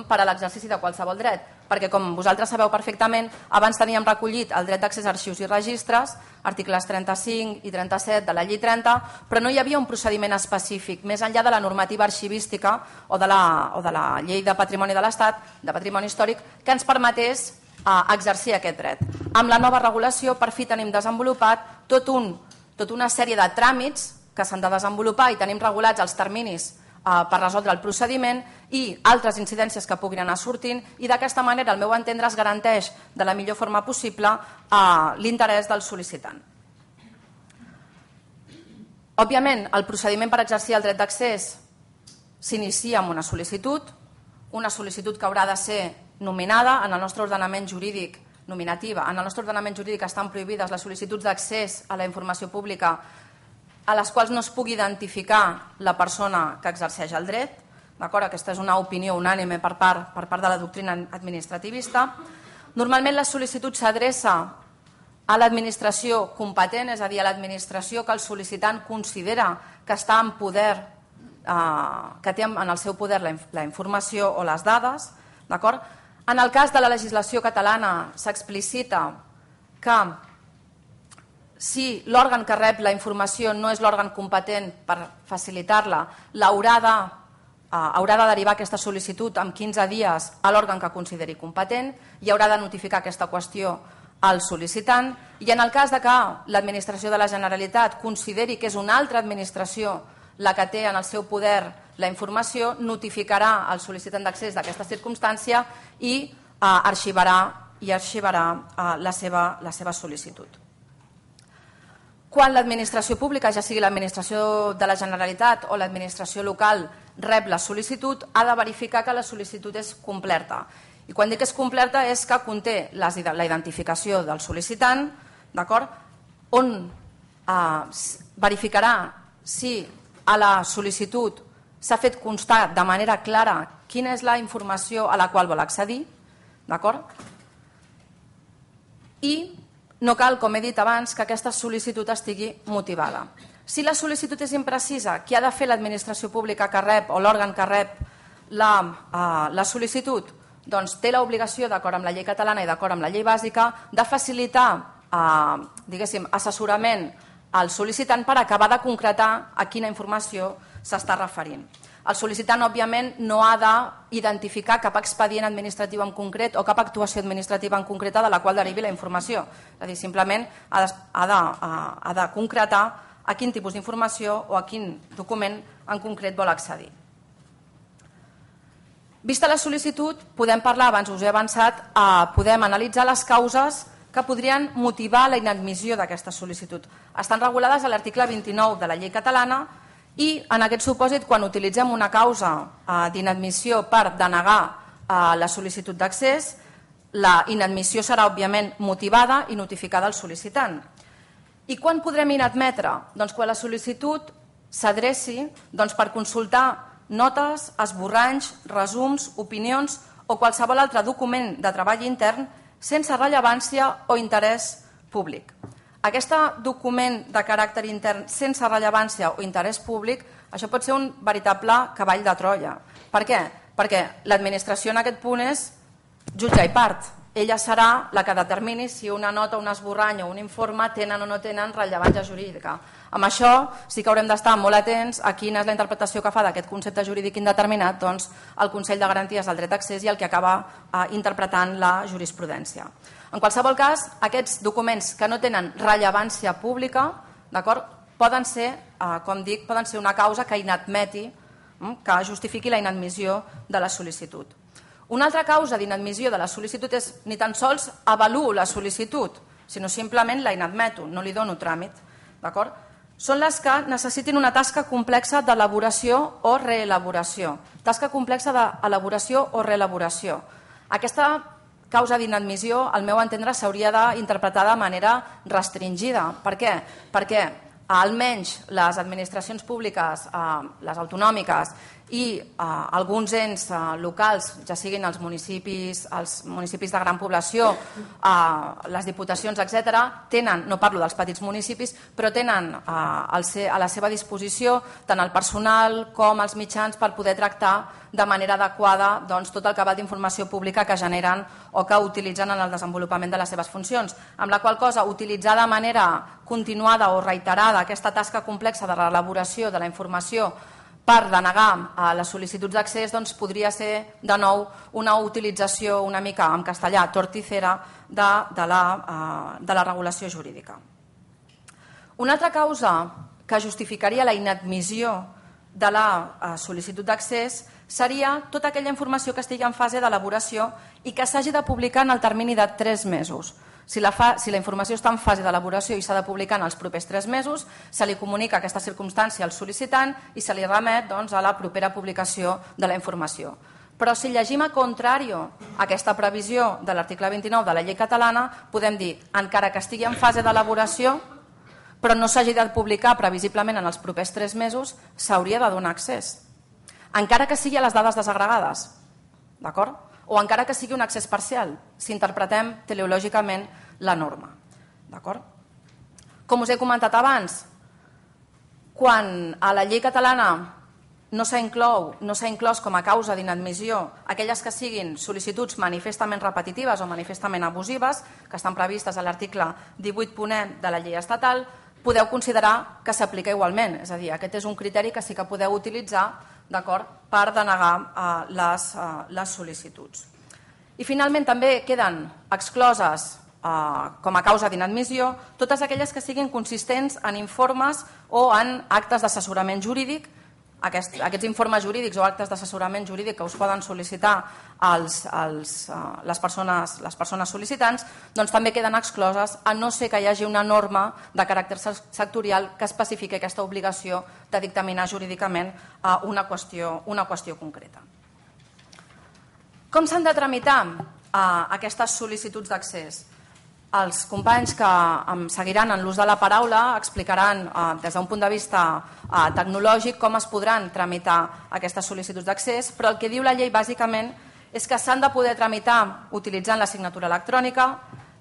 Speaker 1: per a l'exercici de qualsevol dret, perquè com vosaltres sabeu perfectament, abans teníem recollit el dret d'accés a arxius i registres, articles 35 i 37 de la llei 30, però no hi havia un procediment específic, més enllà de la normativa arxivística o de la llei de patrimoni de l'Estat, de patrimoni històric, que ens permetés exercir aquest dret. Amb la nova regulació, per fi tenim desenvolupat tota una sèrie de tràmits que s'han de desenvolupar i tenim regulats els terminis per resoldre el procediment i altres incidències que puguin anar sortint, i d'aquesta manera, al meu entendre, es garanteix de la millor forma possible l'interès del sol·licitant. Òbviament, el procediment per exercir el dret d'accés s'inicia amb una sol·licitud que haurà de ser nominada. En el nostre ordenament jurídic nominativa, en el nostre ordenament jurídic estan prohibides les sol·licituds d'accés a la informació pública a les quals no es pugui identificar la persona que exerceix el dret. Aquesta és una opinió unànime per part de la doctrina administrativista. Normalment la sol·licitud s'adreça a l'administració competent, és a dir, a l'administració que el sol·licitant considera que està en poder, que té en el seu poder la informació o les dades. En el cas de la legislació catalana s'explicita que si l'òrgan que rep la informació no és l'òrgan competent per facilitar-la, haurà de derivar aquesta sol·licitud en 15 dies a l'òrgan que consideri competent i haurà de notificar aquesta qüestió al sol·licitant. I en el cas que l'administració de la Generalitat consideri que és una altra administració la que té en el seu poder la informació, notificarà al sol·licitant d'accés d'aquesta circumstància i arxivarà la seva sol·licitud. Quan l'administració pública, ja sigui l'administració de la Generalitat o l'administració local, rep la sol·licitud, ha de verificar que la sol·licitud és completa. I quan dic que és completa és que conté la identificació del sol·licitant, on verificarà si a la sol·licitud s'ha fet constar de manera clara quina és la informació a la qual vol accedir, i no cal, com he dit abans, que aquesta sol·licitud estigui motivada. Si la sol·licitud és imprecisa, què ha de fer l'administració pública que rep o l'òrgan que rep la sol·licitud? Doncs té l'obligació, d'acord amb la llei catalana i d'acord amb la llei bàsica, de facilitar assessorament al sol·licitant per acabar de concretar a quina informació s'està referint. El sol·licitant, òbviament, no ha d'identificar cap expedient administratiu en concret o cap actuació administrativa en concreta de la qual derivi la informació. És a dir, simplement ha de concretar a quin tipus d'informació o a quin document en concret vol accedir. Vista la sol·licitud, podem parlar, abans us he avançat, podem analitzar les causes que podrien motivar la inadmissió d'aquesta sol·licitud. Estan regulades a l'article 29 de la llei catalana i en aquest supòsit, quan utilitzem una causa d'inadmissió per denegar la sol·licitud d'accés, la inadmissió serà òbviament motivada i notificada al sol·licitant. I quan podrem inadmetre? Doncs quan la sol·licitud s'adreci per consultar notes, esborranys, resums, opinions o qualsevol altre document de treball intern sense rellevància o interès públic. Aquest document de caràcter intern sense rellevància o interès públic, això pot ser un veritable cavall de Troia. Per què? Perquè l'administració en aquest punt és jutge i part. Ella serà la que determini si una nota, un esborrany o un informe tenen o no tenen rellevància jurídica. Amb això sí que haurem d'estar molt atents a quina és la interpretació que fa d'aquest concepte jurídic indeterminat doncs, el Consell de Garanties del Dret d'Accés i el que acaba interpretant la jurisprudència. En qualsevol cas, aquests documents que no tenen rellevància pública poden ser, com dic, poden ser una causa que inadmeti, que justifiqui la inadmissió de la sol·licitud. Una altra causa d'inadmissió de la sol·licitud és ni tan sols avaluo la sol·licitud, sinó simplement la inadmeto, no li dono tràmit. Són les que necessitin una tasca complexa d'elaboració o reelaboració. Tasca complexa d'elaboració o reelaboració. Aquesta causa d'inadmissió, al meu entendre, s'hauria d'interpretar de manera restringida. Per què? Perquè almenys les administracions públiques, les autonòmiques i alguns ens locals, ja siguin els municipis de gran població, les diputacions, etc., tenen, no parlo dels petits municipis, però tenen a la seva disposició tant el personal com els mitjans per poder tractar de manera adequada tot el cabal d'informació pública que generen o que utilitzen en el desenvolupament de les seves funcions, amb la qual cosa utilitzar de manera continuada o reiterada aquesta tasca complexa de l'elaboració de la informació per denegar les sol·licituds d'accés podria ser de nou una utilització una mica en castellà torticera de la regulació jurídica. Una altra causa que justificaria la inadmissió de la sol·licitud d'accés seria tota aquella informació que estigui en fase d'elaboració i que s'hagi de publicar en el termini de 3 mesos. Si la informació està en fase d'elaboració i s'ha de publicar en els propers 3 mesos, se li comunica aquesta circumstància al sol·licitant i se li remet a la propera publicació de la informació. Però si llegim a contrari aquesta previsió de l'article 29 de la llei catalana, podem dir, encara que estigui en fase d'elaboració, però no s'hagi de publicar previsiblement en els propers 3 mesos, s'hauria de donar accés. Encara que sigui a les dades desagregades, d'acord? O encara que sigui un accés parcial, si interpretem teleològicament la norma. Com us he comentat abans, quan a la llei catalana no s'ha inclòs com a causa d'inadmissió aquelles que siguin sol·licituds manifestament repetitives o manifestament abusives, que estan previstes a l'article 18.e de la llei estatal, podeu considerar que s'aplica igualment. És a dir, aquest és un criteri que sí que podeu utilitzar per denegar les sol·licituds. I finalment també queden excloses com a causa d'inadmissió totes aquelles que siguin consistents en informes o en actes d'assessorament jurídic. Aquests informes jurídics o actes d'assessorament jurídic que us poden sol·licitar les persones sol·licitants també queden excloses, a no ser que hi hagi una norma de caràcter sectorial que especifiqui aquesta obligació de dictaminar jurídicament una qüestió concreta. Com s'han de tramitar aquestes sol·licituds d'accés? Els companys que em seguiran en l'ús de la paraula explicaran des d'un punt de vista tecnològic com es podran tramitar aquestes sol·licituds d'accés, però el que diu la llei bàsicament és que s'han de poder tramitar utilitzant la signatura electrònica,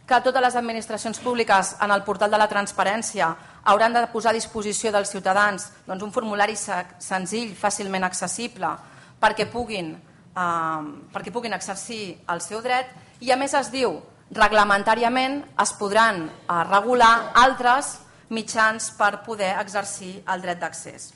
Speaker 1: que totes les administracions públiques en el portal de la transparència hauran de posar a disposició dels ciutadans un formulari senzill, fàcilment accessible, perquè puguin exercir el seu dret, i a més es diu reglamentàriament es podran regular altres mitjans per poder exercir el dret d'accés.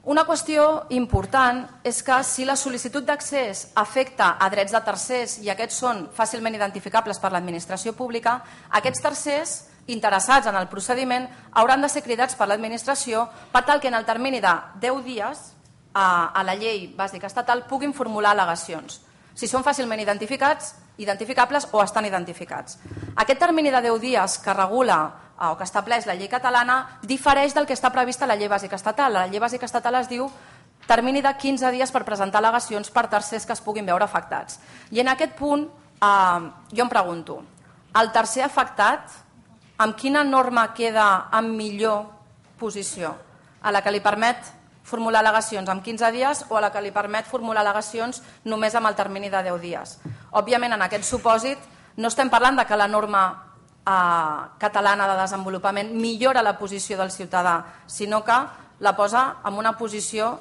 Speaker 1: Una qüestió important és que si la sol·licitud d'accés afecta a drets de tercers i aquests són fàcilment identificables per l'administració pública, aquests tercers interessats en el procediment hauran de ser cridats per l'administració per tal que en el termini de 10 dies a la llei bàsica estatal puguin formular al·legacions. Si són fàcilment identificables o estan identificats. Aquest termini de 10 dies que regula o que estableix la llei catalana difereix del que està previst a la llei bàsica estatal. A la llei bàsica estatal es diu termini de 15 dies per presentar al·legacions per tercers que es puguin veure afectats. I en aquest punt jo em pregunto, el tercer afectat amb quina norma queda en millor posició? A la que li permet formular al·legacions en 15 dies o a la que li permet formular al·legacions només amb el termini de 10 dies. Òbviament, en aquest supòsit, no estem parlant de que la norma catalana de desenvolupament millora la posició del ciutadà, sinó que la posa en una posició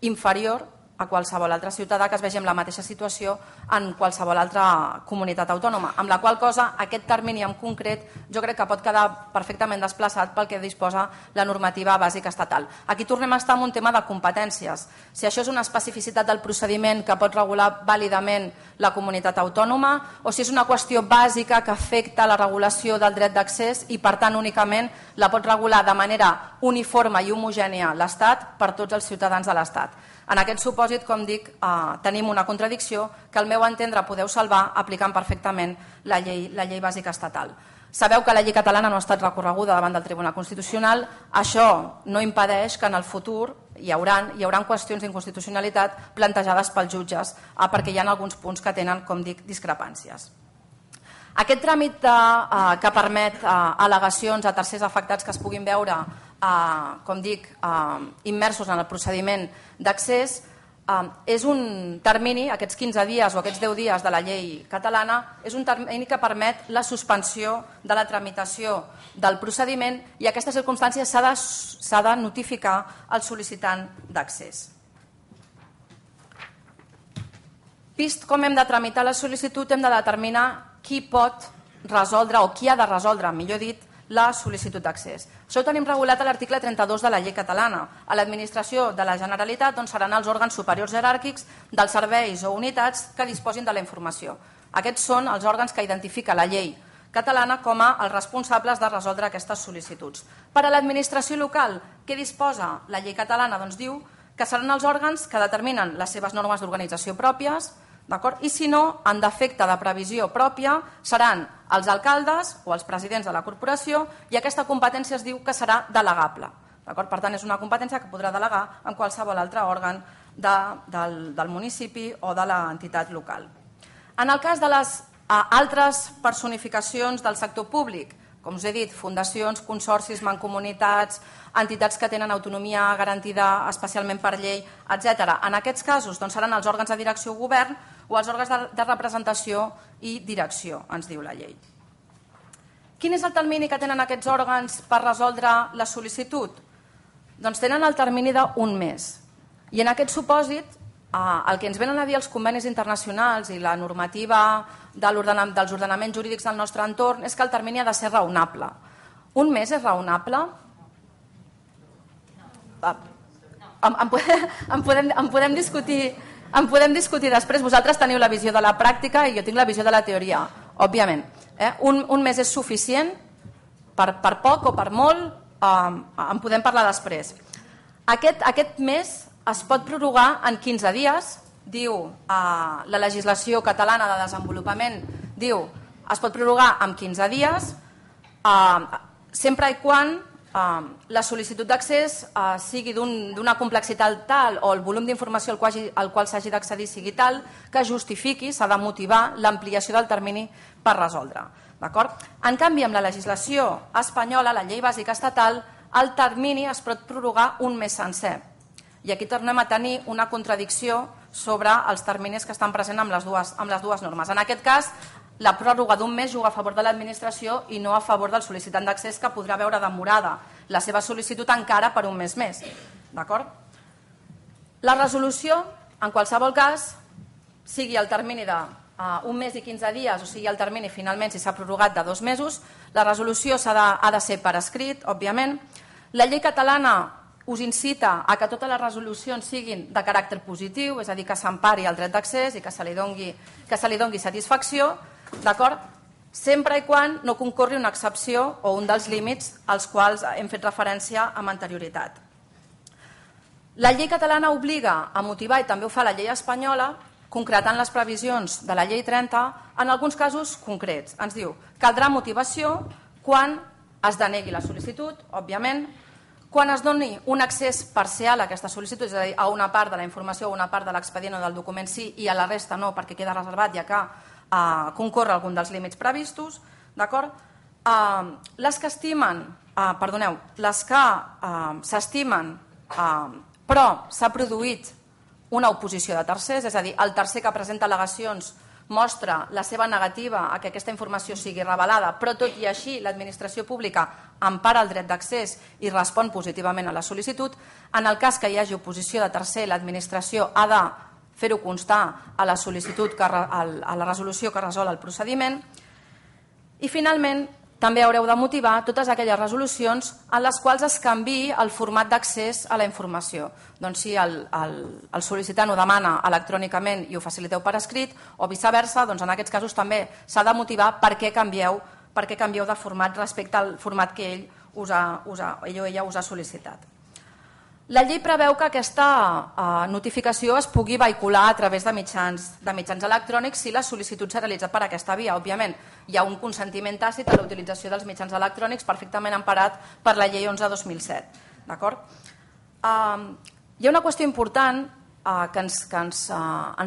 Speaker 1: inferior a qualsevol altre ciutadà que es vegi en la mateixa situació en qualsevol altra comunitat autònoma, amb la qual cosa aquest termini en concret jo crec que pot quedar perfectament desplaçat pel que disposa la normativa bàsica estatal. Aquí tornem a estar en un tema de competències. Si això és una especificitat del procediment que pot regular vàlidament la comunitat autònoma o si és una qüestió bàsica que afecta la regulació del dret d'accés i per tant únicament la pot regular de manera uniforme i homogènia l'Estat per tots els ciutadans de l'Estat. En aquest supòsit, com dic, tenim una contradicció que al meu entendre podeu salvar aplicant perfectament la llei bàsica estatal. Sabeu que la llei catalana no ha estat recorreguda davant del Tribunal Constitucional. Això no impedeix que en el futur hi haurà qüestions d'inconstitucionalitat plantejades pels jutges perquè hi ha alguns punts que tenen, com dic, discrepàncies. Aquest tràmit que permet al·legacions a tercers afectats que es puguin veure, com dic, immersos en el procediment d'accés, és un termini, aquests 15 dies o aquests 10 dies de la llei catalana, és un termini que permet la suspensió de la tramitació del procediment i aquesta circumstància s'ha de notificar al sol·licitant d'accés. Vist com hem de tramitar la sol·licitud, hem de determinar qui pot resoldre o qui ha de resoldre, millor dit, la sol·licitud d'accés. Això ho tenim regulat a l'article 32 de la llei catalana. A l'administració de la Generalitat seran els òrgans superiors jeràrquics dels serveis o unitats que disposin de la informació. Aquests són els òrgans que identifica la llei catalana com a els responsables de resoldre aquestes sol·licituds. Per a l'administració local, què disposa la llei catalana? Doncs diu que seran els òrgans que determinen les seves normes d'organització pròpies, i si no, en defecte de previsió pròpia, seran els alcaldes o els presidents de la corporació i aquesta competència es diu que serà delegable. Per tant, és una competència que podrà delegar en qualsevol altre òrgan del municipi o de l'entitat local. En el cas de les altres personificacions del sector públic, com us he dit, fundacions, consorcis, mancomunitats, entitats que tenen autonomia garantida especialment per llei, etc. En aquests casos seran els òrgans de direcció o govern o els òrgans de representació i direcció, ens diu la llei. Quin és el termini que tenen aquests òrgans per resoldre la sol·licitud? Doncs tenen el termini d'un mes. I en aquest supòsit, el que ens venen a dir els convenis internacionals i la normativa dels ordenaments jurídics del nostre entorn és que el termini ha de ser raonable. Un mes és raonable? En podem discutir després. Vosaltres teniu la visió de la pràctica i jo tinc la visió de la teoria, òbviament. Un mes és suficient? Per poc o per molt? En podem parlar després. Aquest mes es pot prorrogar en 15 dies, diu la legislació catalana de desenvolupament, diu es pot prorrogar en 15 dies, sempre i quan la sol·licitud d'accés sigui d'una complexitat tal o el volum d'informació al qual s'hagi d'accedir sigui tal que justifiqui, s'ha de motivar l'ampliació del termini per resoldre. En canvi, amb la legislació espanyola, la llei bàsica estatal, el termini es pot prorrogar un mes sencer. I aquí tornem a tenir una contradicció sobre els terminis que estan presents amb les dues normes. En aquest cas, la pròrroga d'un mes juga a favor de l'administració i no a favor del sol·licitant d'accés que podrà veure demorada la seva sol·licitud encara per un mes més. La resolució, en qualsevol cas, sigui el termini d'un mes i 15 dies o sigui el termini finalment si s'ha prorrogat de 2 mesos, la resolució ha de ser per escrit, òbviament. La llei catalana us incita a que totes les resolucions siguin de caràcter positiu, és a dir, que s'empari el dret d'accés i que se li doni satisfacció, sempre i quan no concorri una excepció o un dels límits als quals hem fet referència amb anterioritat. La llei catalana obliga a motivar, i també ho fa la llei espanyola, concretant les previsions de la llei 30, en alguns casos concrets. Ens diu, caldrà motivació quan es denegui la sol·licitud, òbviament, quan es doni un accés parcial a aquesta sol·licitud, és a dir, a una part de la informació o una part de l'expedient o del document sí i a la resta no perquè queda reservat ja que concorre algun dels límits previstos, les que s'estimen però s'ha produït una oposició de tercers, és a dir, el tercer que presenta al·legacions mostra la seva negativa a que aquesta informació sigui revelada, però tot i així l'administració pública empara el dret d'accés i respon positivament a la sol·licitud. En el cas que hi hagi oposició de tercer, l'administració ha de fer-ho constar a la sol·licitud, a la resolució que resol el procediment. I finalment, també haureu de motivar totes aquelles resolucions en les quals es canviï el format d'accés a la informació. Doncs si el sol·licitant ho demana electrònicament i ho faciliteu per escrit o viceversa, doncs en aquests casos també s'ha de motivar per què canvieu de format respecte al format que ell o ella us ha sol·licitat. La llei preveu que aquesta notificació es pugui vehicular a través de mitjans electrònics si la sol·licitud s'ha realitzat per aquesta via. Òbviament, hi ha un consentiment tàcit a la utilització dels mitjans electrònics perfectament emparat per la llei 11/2007. Hi ha una qüestió important que ens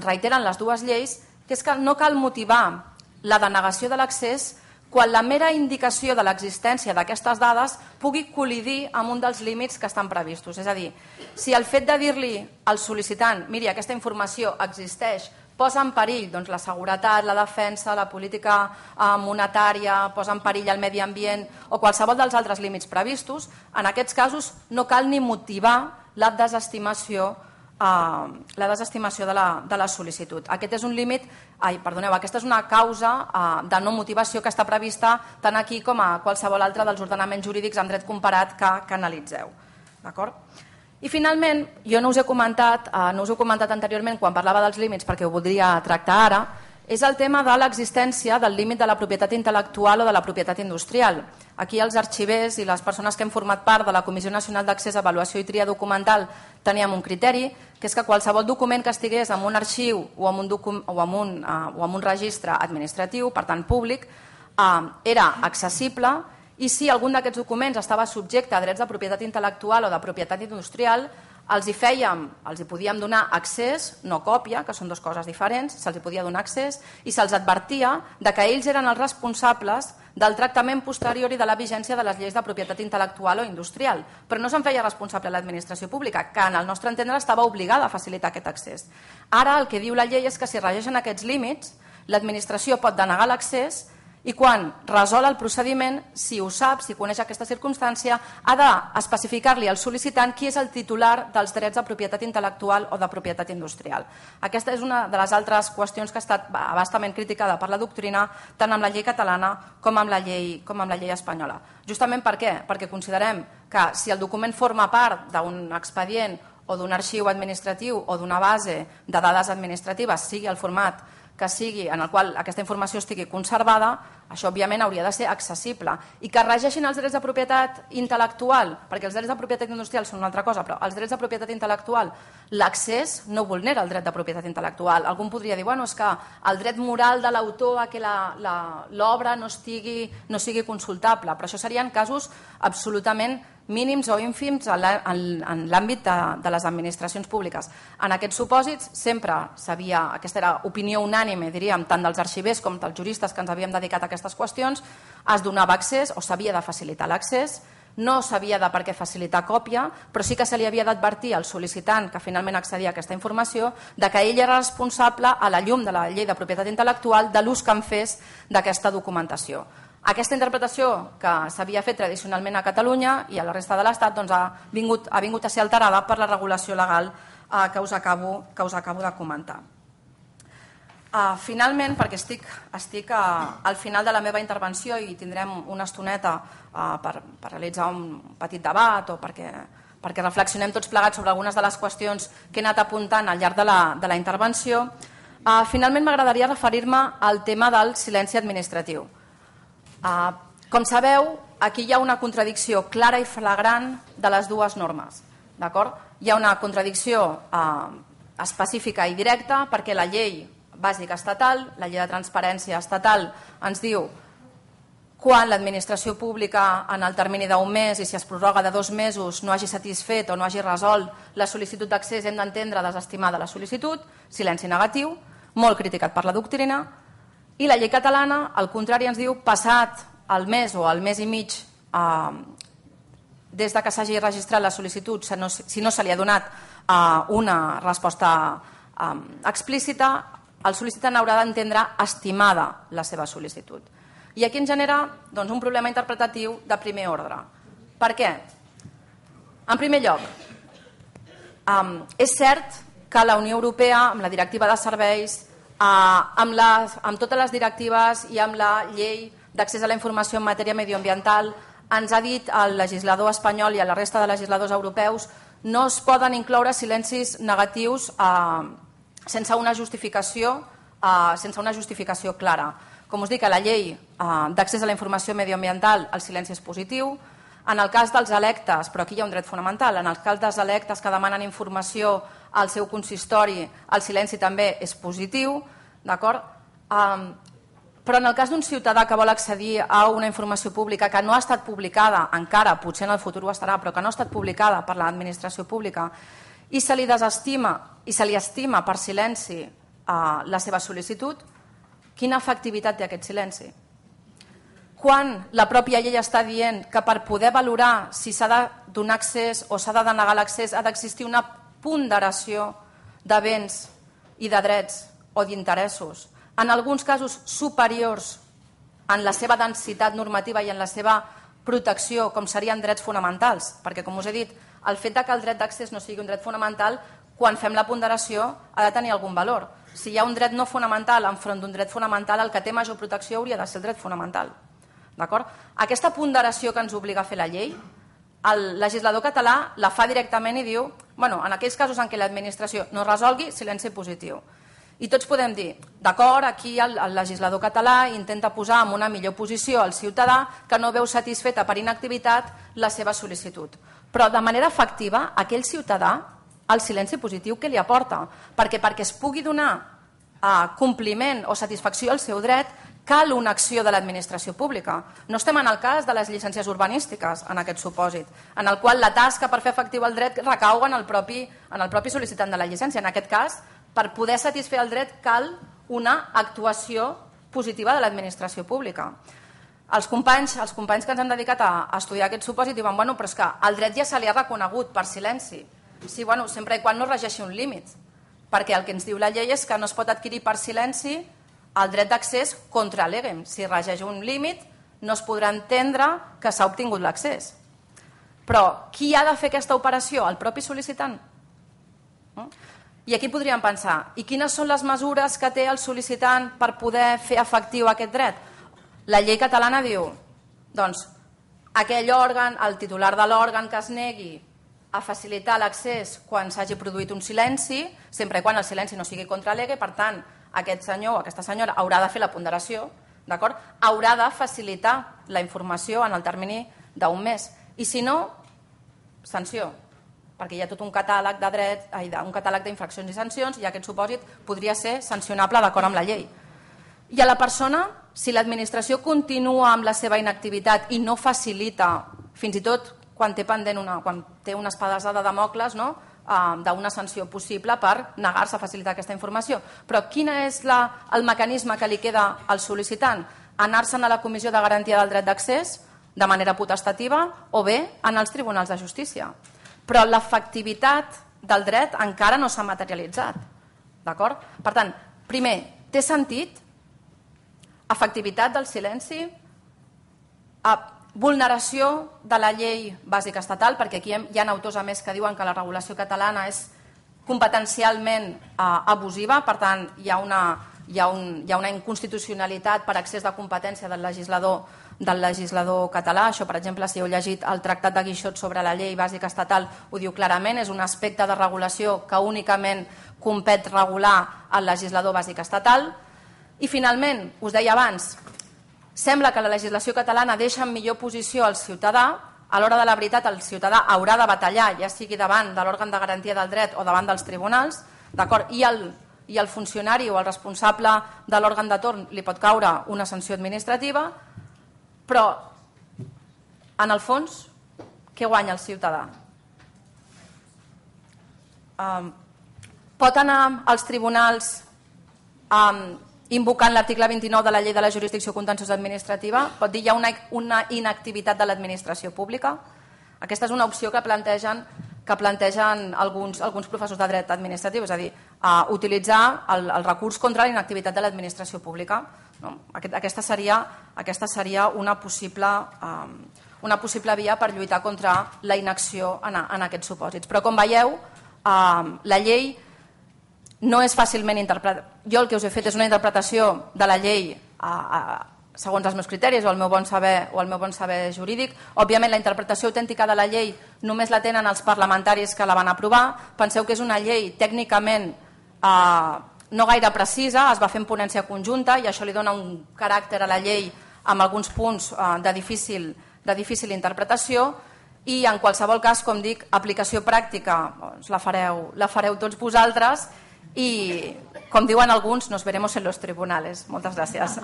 Speaker 1: reiteren les dues lleis, que és que no cal motivar la denegació de l'accés quan la mera indicació de l'existència d'aquestes dades pugui col·lidir amb un dels límits que estan previstos. És a dir, si el fet de dir-li al sol·licitant miri, aquesta informació existeix, posa en perill la seguretat, la defensa, la política monetària, posa en perill el medi ambient o qualsevol dels altres límits previstos, en aquests casos no cal ni motivar la desestimació de la sol·licitud. Aquest és un límit, aquesta és una causa de no motivació que està prevista tant aquí com a qualsevol altre dels ordenaments jurídics en dret comparat que analitzeu. D'acord? I finalment, jo no us he comentat anteriorment quan parlava dels límits perquè ho voldria tractar ara, és el tema de l'existència del límit de la propietat intel·lectual o de la propietat industrial. Aquí els arxivers i les persones que hem format part de la Comissió Nacional d'Accés, Avaluació i Tria Documental teníem un criteri, que és que qualsevol document que estigués en un arxiu o en un registre administratiu, per tant públic, era accessible i si algun d'aquests documents estava subjecte a drets de propietat intel·lectual o de propietat industrial, els hi podíem donar accés, no còpia, que són dues coses diferents, se'ls podia donar accés i se'ls advertia que ells eren els responsables del tractament posterior i de la vigència de les lleis de propietat intel·lectual o industrial. Però no se'n feia responsable l'administració pública, que en el nostre entendre estava obligada a facilitar aquest accés. Ara el que diu la llei és que si regeixen aquests límits, l'administració pot denegar l'accés i quan resol el procediment, si ho sap, si coneix aquesta circumstància, ha d'especificar-li al sol·licitant qui és el titular dels drets de propietat intel·lectual o de propietat industrial. Aquesta és una de les altres qüestions que ha estat bastament criticada per la doctrina, tant amb la llei catalana com amb la llei espanyola. Justament per què? Perquè considerem que si el document forma part d'un expedient o d'un arxiu administratiu o d'una base de dades administratives, sigui el format que sigui en el qual aquesta informació estigui conservada, això òbviament hauria de ser accessible. I que regeixin els drets de propietat intel·lectual, perquè els drets de propietat industrial són una altra cosa, però els drets de propietat intel·lectual, l'accés no vulnera el dret de propietat intel·lectual. Algú podria dir, és que el dret moral de l'autor a que l'obra no sigui consultable, però això serien casos absolutament mínims o ínfims en l'àmbit de les administracions públiques. En aquests supòsits sempre aquesta era opinió unànime, diríem, tant dels arxivers com dels juristes que ens havíem dedicat a aquestes qüestions, es donava accés o s'havia de facilitar l'accés, no s'havia de per què facilitar còpia, però sí que se li havia d'advertir al sol·licitant que finalment accedia a aquesta informació de que ell era responsable a la llum de la llei de propietat intel·lectual de l'ús que en fes d'aquesta documentació. Aquesta interpretació que s'havia fet tradicionalment a Catalunya i a la resta de l'Estat ha vingut a ser alterada per la regulació legal que us acabo de comentar. Finalment, perquè estic al final de la meva intervenció i tindrem una estoneta per realitzar un petit debat o perquè reflexionem tots plegats sobre algunes de les qüestions que he anat apuntant al llarg de la intervenció, finalment m'agradaria referir-me al tema del silenci administratiu. Com sabeu, aquí hi ha una contradicció clara i flagrant de les dues normes. Hi ha una contradicció específica i directa perquè la llei bàsica estatal, la llei de transparència estatal, ens diu quan l'administració pública en el termini d'un mes i si es prorroga de 2 mesos no hagi satisfet o no hagi resolt la sol·licitud d'accés, hem d'entendre desestimada la sol·licitud, silenci negatiu, molt criticat per la doctrina. I la llei catalana, al contrari, ens diu passat el mes o el mes i mig des que s'hagi registrat la sol·licitud, si no se li ha donat una resposta explícita, el sol·licitant haurà d'entendre estimada la seva sol·licitud. I aquí ens genera un problema interpretatiu de primer ordre. Per què? En primer lloc, és cert que la Unió Europea, amb la directiva de serveis, amb totes les directives i amb la llei d'accés a la informació en matèria medioambiental, ens ha dit al legislador espanyol i a la resta de legisladors europeus no es poden incloure silencis negatius sense una justificació clara. Com us dic, a la llei d'accés a la informació medioambiental el silenci és positiu. En el cas dels electes, però aquí hi ha un dret fonamental, en el cas dels electes que demanen informació al seu consistori, el silenci també és positiu, d'acord? Però en el cas d'un ciutadà que vol accedir a una informació pública que no ha estat publicada encara, potser en el futur ho estarà, però que no ha estat publicada per l'administració pública i se li desestima i se li estima per silenci la seva sol·licitud, quina efectivitat té aquest silenci? Quan la pròpia llei està dient que per poder valorar si s'ha de donar accés o s'ha de denegar l'accés ha d'existir una ponderació de béns i de drets o d'interessos, en alguns casos superiors en la seva densitat normativa i en la seva protecció, com serien drets fonamentals, perquè, com us he dit, el fet que el dret d'accés no sigui un dret fonamental, quan fem la ponderació ha de tenir algun valor. Si hi ha un dret no fonamental enfront d'un dret fonamental, el que té major protecció hauria de ser el dret fonamental. Aquesta ponderació que ens obliga a fer la llei, el legislador català la fa directament i diu, en aquells casos en què l'administració no resolgui, silenci positiu. I tots podem dir, d'acord, aquí el legislador català intenta posar en una millor posició el ciutadà que no veu satisfeta per inactivitat la seva sol·licitud. Però de manera efectiva, aquell ciutadà, el silenci positiu, què li aporta? Perquè es pugui donar compliment o satisfacció al seu dret, cal una acció de l'administració pública. No estem en el cas de les llicències urbanístiques, en aquest supòsit, en el qual la tasca per fer efectiu el dret recau en el propi sol·licitant de la llicència. En aquest cas, per poder satisfer el dret cal una actuació positiva de l'administració pública. Els companys que ens han dedicat a estudiar aquest supòsit diuen però és que el dret ja se li ha reconegut per silenci. Sí, sempre i quan no regeixi un límit, perquè el que ens diu la llei és que no es pot adquirir per silenci el dret d'accés contra legem. Si regeix un límit no es podrà entendre que s'ha obtingut l'accés. Però qui ha de fer aquesta operació? El propi sol·licitant? I aquí podríem pensar, i quines són les mesures que té el sol·licitant per poder fer efectiu aquest dret? La llei catalana diu, aquell òrgan, el titular de l'òrgan que es negui a facilitar l'accés quan s'hagi produït un silenci, sempre i quan el silenci no sigui contra lege, per tant, aquest senyor o aquesta senyora haurà de fer la ponderació, haurà de facilitar la informació en el termini d'un mes. I si no, sanció, perquè hi ha tot un catàleg de drets, un catàleg d'infraccions i sancions, i aquest supòsit podria ser sancionable d'acord amb la llei. I a la persona, si l'administració continua amb la seva inactivitat i no facilita, fins i tot quan té pendent quan té una espadassa de Damocles, d'una sanció possible per negar-se a facilitar aquesta informació. Però quin és el mecanisme que li queda al sol·licitant? Anar-se'n a la Comissió de Garantia del Dret d'Accés de manera potestativa o bé en els tribunals de justícia. Però l'efectivitat del dret encara no s'ha materialitzat. Per tant, primer, té sentit? Efectivitat del silenci? Vulneració de la llei bàsica estatal, perquè aquí hi ha autors a més que diuen que la regulació catalana és competencialment abusiva, per tant hi ha una inconstitucionalitat per excés de competència del legislador català. Això, per exemple, si heu llegit el Tractat de Guixot sobre la llei bàsica estatal, ho diu clarament, és un aspecte de regulació que únicament compet regular el legislador bàsic estatal. I finalment, us deia abans, sembla que la legislació catalana deixa en millor posició el ciutadà. A l'hora de la veritat el ciutadà haurà de batallar, ja sigui davant de l'òrgan de garantia del dret o davant dels tribunals, i el funcionari o el responsable de l'òrgan de torn li pot caure una sanció administrativa, però en el fons què guanya el ciutadà? Pot anar als tribunals invocant l'article 29 de la llei de la jurisdicció contenciosa administrativa? Pot dir hi ha una inactivitat de l'administració pública? Aquesta és una opció que plantegen alguns professors de dret administratiu, és a dir, utilitzar el recurs contra la inactivitat de l'administració pública. Aquesta seria una possible via per lluitar contra la inacció en aquests supòsits. Però com veieu, la llei no és fàcilment interpretada. Jo el que us he fet és una interpretació de la llei segons els meus criteris o el meu bon saber jurídic. Òbviament la interpretació autèntica de la llei només la tenen els parlamentaris que la van aprovar. Penseu que és una llei tècnicament no gaire precisa, es va fer en ponència conjunta i això li dona un caràcter a la llei amb alguns punts de difícil interpretació. I en qualsevol cas, com dic, aplicació pràctica la fareu tots vosaltres i, com diuen alguns, nos veremos en los tribunales. Moltes gràcies.